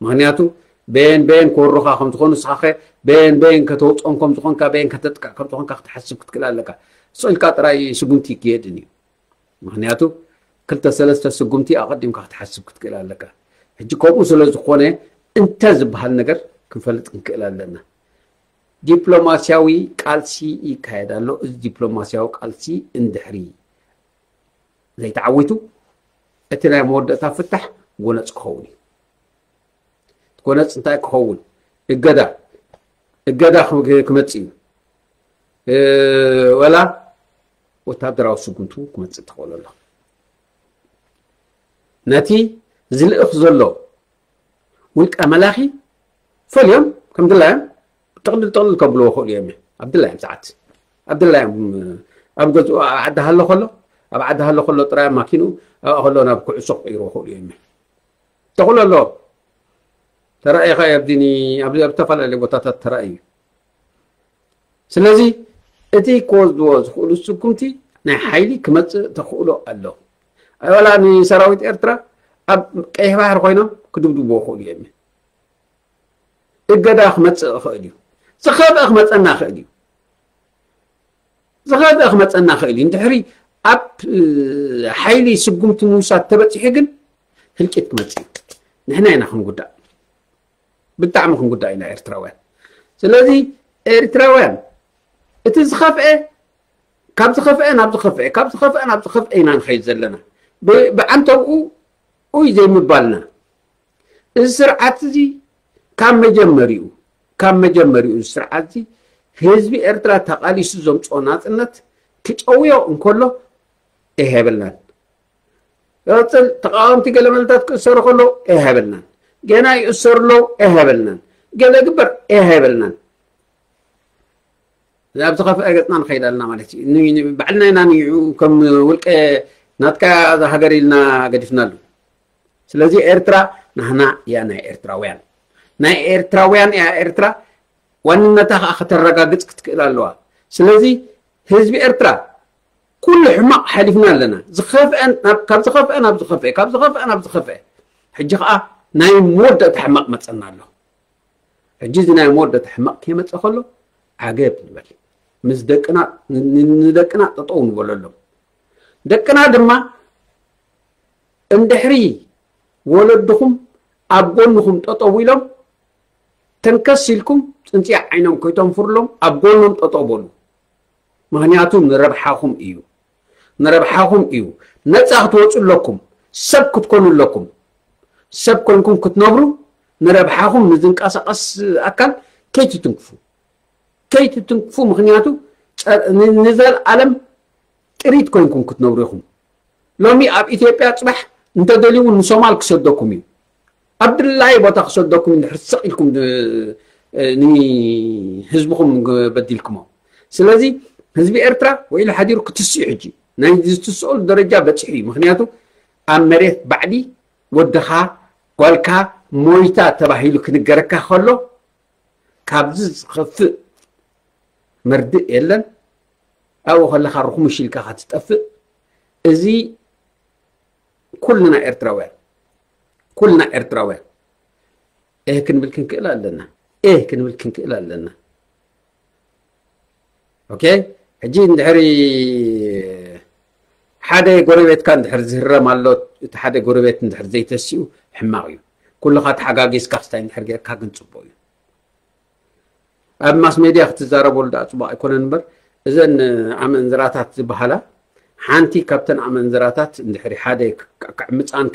ምክንያቱ በየን በየን ክወሩኻ ከም ዝኾኑ ንስኻ ኸ በየን በየን ከተውፅኦም ከም ዝኾንካ በየን ከተጥቅዕ ከም ዝኾንካ ክትሓስብ ክትክእል ኣለካ። ስቕ ኢልካ ጥራይ ስጉምቲ ይክየድን እዩ። ምክንያቱ ክልተ ሰለስተ ስጉምቲ ኣቐዲምካ ክትሓስብ ክትክእል ኣለካ። ሕጂ ከምኡ ስለ ዝኾነ እንተ ዝበሃል ነገር ክንፈልጥ ክንክእል ኣለና። ዲፕሎማሲያዊ ቃልሲ ይካየድ ኣሎ። እዚ ዲፕሎማሲያዊ ቃልሲ እንድሕሪ ዘይተዓዊቱ እቲ ናይ መወዳእታ ፍታሕ ጎነፅ ክኸውን እዩ። ጎነፅ እንታይ ክኸውን? እገዳ እገዳ ክመፅእ እዩ። ወላ ወታደራዊ ስጉምቱ ክመፅእ ትኽእል ኣሎ። ነቲ ዝልእኽ ዘሎ ውልቀ መላኺ ፈልዮም ከም ድላዮም ጥቕልል ጥቕልል ከብልዎ ክእሉ እዮም። ኣብ ድላዮም ሰዓት ኣብ ድላዮም ኣብ ገዝኡ ኣብ ዓዲ ሃሎ ከሎ ኣብ ዓዲ ሃሎ ከሎ ጥራይ ማኪኑ ኣብኣ ከሎ ናብ ኩዕሶ ክቕይርዎ ክእሉ እዮም። ተኽእሎ ኣሎ። ተራእኻ ኣብዚኒ ኣብ ዝተፈላለዩ ቦታታት ተራእዩ። ስለዚ እቲ ክወስድዎ ዝኽእሉ ስጉምቲ ናይ ሓይሊ ክመፅእ ተኽእሎ ኣሎ። ኣይወላ ንሰራዊት ኤርትራ ኣብ ቀይሕ ባሕሪ ኮይኖም ክድብድብዎ ይኽእሉ እዮም። እገዳ ክመፅእ ይኽእል እዩ። ዝኸፍአ ክመፀና ይኽእል እዩ። ዝኸፍአ ክመፀና ይኽእል እዩ። እንድሕሪ ኣብ ሓይሊ ስጉምቲ ምውሳድ ተበፂሑ ግን ህልቂት ክመፅእ እዩ። ንሕና ኢና ክንጉዳእ፣ ብጣዕሚ ክንጉዳእ ኢና ኤርትራውያን። ስለዚ ኤርትራውያን እቲ ዝኸፍአ ካብ ዝኸፍአ ናብ ዝኸፍአ ካብ ዝኸፍአ ናብ ዝኸፍአ ኢና ንኸይድ ዘለና። ብዓንተብኡ ኡይ ዘይምባልና እዚ ስርዓት እዚ ካብ መጀመሪኡ ካብ መጀመሪኡ እዚ ስርዓት እዚ ህዝቢ ኤርትራ ተቓሊሱ ዘምፅኦ ናፅነት ክጨውዮ እንከሎ ኣይሃበልናን። ይቕፅል ተቃወምቲ ገለ መለታት ክእሰሩ ከለዉ ኣይሃበልናን። ገና ይእሰሩ ኣለዉ ኣይሃበልናን። ገለ ግበር ኣይሃበልናን። ናብ ዝኸፍአ ገፅና ንኸይድ ኣለና ማለት እዩ። ባዕልና ኢና ንይዑ ከም ውልቀ ናትካ እዛ ሃገር ኢልና ገዲፍናሉ። ስለዚ ኤርትራ ናህና እያ ናይ ኤርትራውያን፣ ናይ ኤርትራውያን እያ ኤርትራ። ዋንነታ ከዓ ከተረጋግፅ ክትክእል ኣለዋ። ስለዚ ህዝቢ ኤርትራ ኩሉ ሕማቕ ሓሊፍና ኣለና። ዝኸፍአ ናብ- ካብ ዝኸፍአ ናብ ዝኸፍአ ካብ ዝኸፍአ ናብ ዝኸፍአ ሕጂ ከዓ ናይ መወዳእታ ሕማቕ መፀና ኣሎ። ሕጂ እዚ ናይ መወዳእታ ሕማቕ ከይመፀ ከሎ ዓገብ ንበል። ምስ ደቅና ን- ንደቅና ጠጠው ንበለሎም። ደቅና ድማ እንድሕሪ ወለድኹም ኣብ ጎንኹም ጠጠው ኢሎም ተንከስ ኢልኩም ፅንፅያ ዓይኖም ከይተንፍርሎም ኣብ ጎኖም ጠጠው በሉ። ምክንያቱ ንረብሓኹም እዩ። ንረብሓኹም እዩ። ነፃ ክትወፁ ኣለኩም። ሰብ ክትኮኑ ኣለኩም። ሰብ ኮንኩም ክትነብሩ ንረብሓኹም ንዝንቀሳቐስ ኣካል ከይትትንክፉ ከይትትንክፉ። ምክንያቱ ንዘለኣለም ጥሪት ኮይንኩም ክትነብሩ ኢኹም። ሎሚ ኣብ ኢትዮጵያ ፅባሕ እንተደልዩ እውን ንሶማል ክሰደኩም እዩ። ኣብ ድላይ ቦታ ክሰደኩም እንድሕር ስቕ ኢልኩም ንህዝብኹም በዲልኩሞ። ስለዚ ህዝቢ ኤርትራ ውዒሉ ሓዲሩ ክትስኡ ሕጂ ናይ ዝትስኦሉ ደረጃ በፂሑ እዩ። ምክንያቱ ኣብ መሬት ባዕዲ ወድኻ ጓልካ ሞይታ ተባሂሉ ክንገረካ ከሎ ካብዚ ዝኸፍእ መርድእ የለን። ኣብኡ ከለኻ ርኹምሽ ኢልካ ክትጠፍእ። እዚ ኩልና ኤርትራውያን ኩልና ኤርትራውያን ኤህ ክንብል ክንክእል ኣለና። ኤህ ክንብል ክንክእል ኣለና። ኦኬ። ሕጂ እንድሕሪ ሓደ ጎረቤትካ እንድሕር ዝህረም ኣሎ፣ እቲ ሓደ ጎረቤት እንድሕር ዘይተሲኡ ሕማቕ እዩ። ኩልኻ ተሓጋጊዝካ ክስታይ እንድሕር ጌርካ ግን ፅቡቕ እዩ። ኣብ ማስ ሜድያ ክትዛረበሉ ደኣ ፅቡቕ ኣይኮነን እምበር እዘን ኣመንዝራታት ዝበሃላ ሓንቲ ካብተን ኣመንዝራታት እንድሕሪ ሓደ ክዕምፃን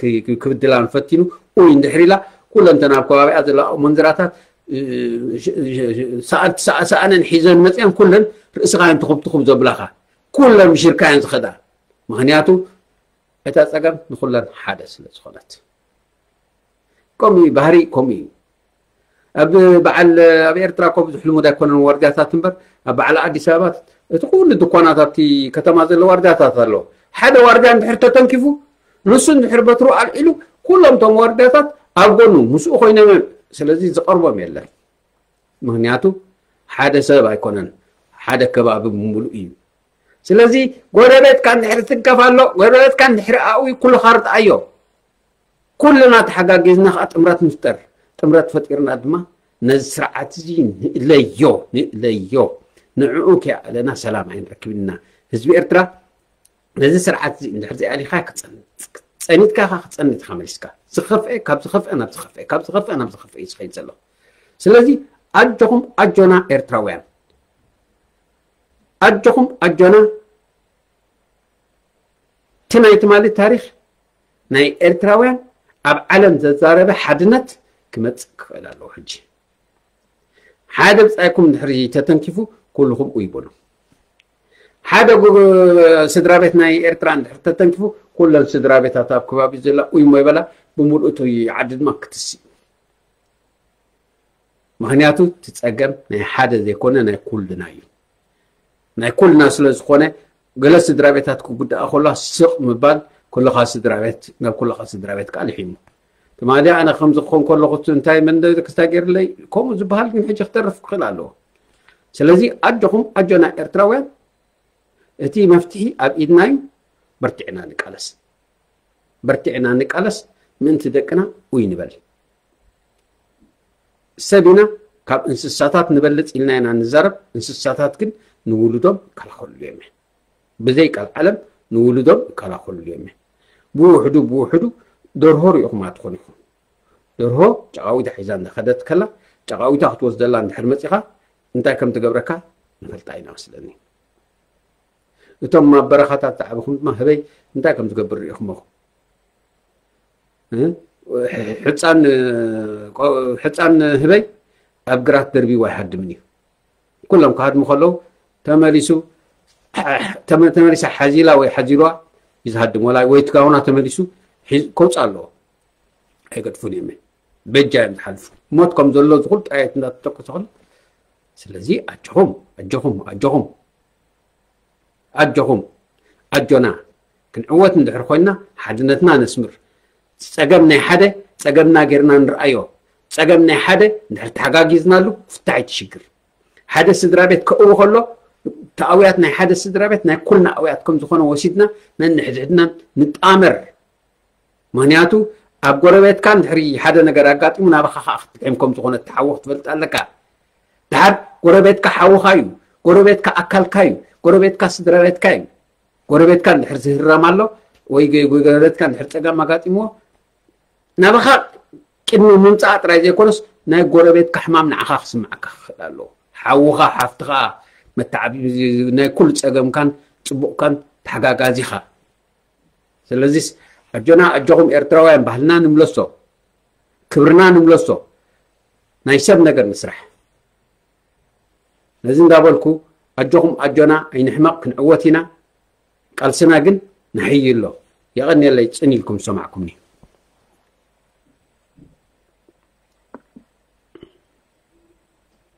ክብድላን ፈቲኑ ኡይ እንድሕር ኢላ ኩለን ተን ኣብ ከባቢኣ ዘለዋ ኣመንዝራታት ሰኣነን ሒዘን መፅአን ኩለን ርእስኻ እየን ትኹብትኹብ ዘብላኻ ኩለን ምሽርካ እየን ዝኸዳ። ምክንያቱ እታ ፀገም ንኩለን ሓደ ስለ ዝኾነት። ከምኡ እዩ ባህሪ ከምኡ እዩ። ኣብ በዓል ኣብ ኤርትራ እኮ ብዙሕ ልሙድ ኣይኮነን ዋርድያታት እምበር ኣብ በዓል ኣዲስ ኣበባ እቲ ኩሉ ድኳናት ኣብቲ ከተማ ዘሎ ዋርድያታት ኣሎ። ሓደ ዋርድያ እንድሕር ተተንኪፉ ንሱ እንድሕር በትሩ ኣልዒሉ ኩሎም እቶም ዋርድያታት ኣብ ጎኑ ምስኡ ኮይኖም እዮም። ስለዚ ዝቐርቦም የለን። ምክንያቱ ሓደ ሰብ ኣይኮነን ሓደ ከባቢ ብምሉእ እዩ። ስለዚ ጎረቤትካ እንድሕር ትንከፍ ኣሎ ጎረቤትካ እንድሕር ኣእዊ ኩልኻ ርድኣዮ። ኩልና ተሓጋጊዝና ከዓ ጥምረት ንፍጠር። ጥምረት ፈጢርና ድማ ነዚ ስርዓት እዚ ንእለዮ ንእለዮ። ንዕኡ ከይኣለና ሰላም ኣይንረክብን ኢና። ህዝቢ ኤርትራ ነዚ ስርዓት እዚ እንድሕር ዘይኣሊኻ ክፀንት ፀኒትካ ኢኻ ክፀንት ኢኻ መሊስካ ዝኸፍአ ካብ ዝኸፍአ ናብ ዝኸፍአ ካብ ዝኸፍአ ናብ ዝኸፍአ እዩ ዝኸይድ ዘሎ። ስለዚ ኣጆኹም ኣጆና ኤርትራውያን ኣጆኹም ኣጆና። እቲ ናይ ትማሊ ታሪኽ ናይ ኤርትራውያን ኣብ ዓለም ዘዛረበ ሓድነት ክመፅእ ክኽእል ኣለዎ። ሕጂ ሓደ ብፃይኩም ድሕሪ ተተንኪፉ ኩልኹም ኡይ በሉ። ሓደ ስድራ ቤት ናይ ኤርትራ እንድሕር ተተንኪፉ ኩለን ስድራ ቤታት ኣብ ከባቢ ዘላ ኡይ ሞ ይበላ። ብምልእቱ ዓዲ ድማ ክትስእ። ምክንያቱ እቲ ፀገም ናይ ሓደ ዘይኮነ ናይ ኩልና እዩ። ናይ ኩልና ስለ ዝኾነ ገለ ስድራ ቤታት ክጉዳኣ ከሎ ስቕ ምባል ኩልኻ ስድራ ቤት ናብ ኩልኻ ስድራ ቤት ከዓ ልሒሙ። ትማሊ ኣነ ከምዚ ክኾን ከለኹ እንታይ መንደ ክስታ ገይርለይ ከምኡ ዝበሃል ግን ሕጂ ክተርፍ ክኽእል ኣለዎ። ስለዚ ኣጆኹም ኣጆና ኤርትራውያን፣ እቲ መፍትሒ ኣብ ኢድና እዩ። በርቲዕና ንቃለስ፣ በርቲዕና ንቃለስ። ምእንቲ ደቅና ኡይ ንበል። ሰብ ኢና፣ ካብ እንስሳታት ንበልፅ ኢልና ኢና ንዛረብ። እንስሳታት ግን ንውሉዶም ይከላኸልሉ እዮም። ብዘይ ቃል ዓለም ንውሉዶም ይከላኸልሉ እዮም። ብውሕዱ ብውሕዱ ደርሆ ርኢኹማ ትኾኑ ኢኹም። ደርሆ ጨቓዊታ ሒዛ እንዳኸደት ከላ፣ ጨቓዊታ ክትወስደላ እንድሕር መፂኻ፣ እንታይ ከም ትገብረካ ንፈልጣ ኢና መስለኒ። እቶም ኣብ በረኻታት ዝዓበኹም ድማ ህበይ እንታይ ከም ዝገብር ርኢኹሞ። ሕፃን ህበይ ኣብ ግራት ደርቢዋ ኣይሃድምን እዩ። ኩሎም ክሃድሙ ከለዉ ተመሊሱ ተመ- ተመሊሳ ሓዚላ ወይ ሓዚልዋ እዩ ዝሃድም። ወላ ወይ ትጋውና ተመሊሱ ሒዝ- ከውፅእ ኣለዎ። ኣይገድፉን እዮም። በጃ እዮም ዝሓልፉ። ሞት ከም ዘሎ ዝኹል ጣየት እንዳተተኮሰ ከሎ። ስለዚ ኣጆኹም ኣጆኹም ኣጆኹም ኣጆኹም ኣጆና ክንዕወት እንድሕር ኮይና ሓድነትና ነስምር። ፀገም ናይ ሓደ ፀገምና ጌርና ንርኣዮ። ፀገም ናይ ሓደ እንድሕር ተሓጋጊዝናሉ ክፍታሕ እቲ ሽግር። ሓደ ስድራ ቤት ከእዊ ከሎ ተኣውያት ናይ ሓደ ስድራ ቤት ናይ ኩልና ኣውያት ከም ዝኾነ ወሲድና ነንሕድሕድና ንጣመር። ምክንያቱ ኣብ ጎረቤትካ እንድሕሪ ሓደ ነገር ኣጋጢሙ ናባኻ ከዓ ክትጥዕም ከም ዝኾነ እቲ ሓዊ ክትፈልጥ ኣለካ። ድሓር ጎረቤትካ ሓውኻ እዩ፣ ጎረቤትካ ኣካልካ እዩ፣ ጎረቤትካ ስድራ ቤትካ እዩ። ጎረቤትካ እንድሕር ዝህረም ኣሎ ወይ ጎ- ጎረቤትካ እንድሕር ፀገም ኣጋጢምዎ ናባኻ ቅድሚ ምምፃእ ጥራይ ዘይኮነስ ናይ ጎረቤትካ ሕማም ንዓኻ ክስምዓካ ክኽእል ኣለዎ። ሓውኻ ሓፍትኻ መተዓቢ ናይ ኩሉ ፀገምካን ፅቡቕካን ተሓጋጋዚኻ። ስለዚስ ኣጆና ኣጆኹም ኤርትራውያን ባህልና ንምለሶ፣ ክብርና ንምለሶ፣ ናይ ሰብ ነገር ንስራሕ። ነዚ እንዳበልኩ ኣጆኹም ኣጆና ኣይንሕመቕ፣ ክንዕወት ኢና። ቃልስና ግን ንሕይ ኣሎ። የቐንየለይ ጽን ኢልኩም ዝሰማዕኩምኒ።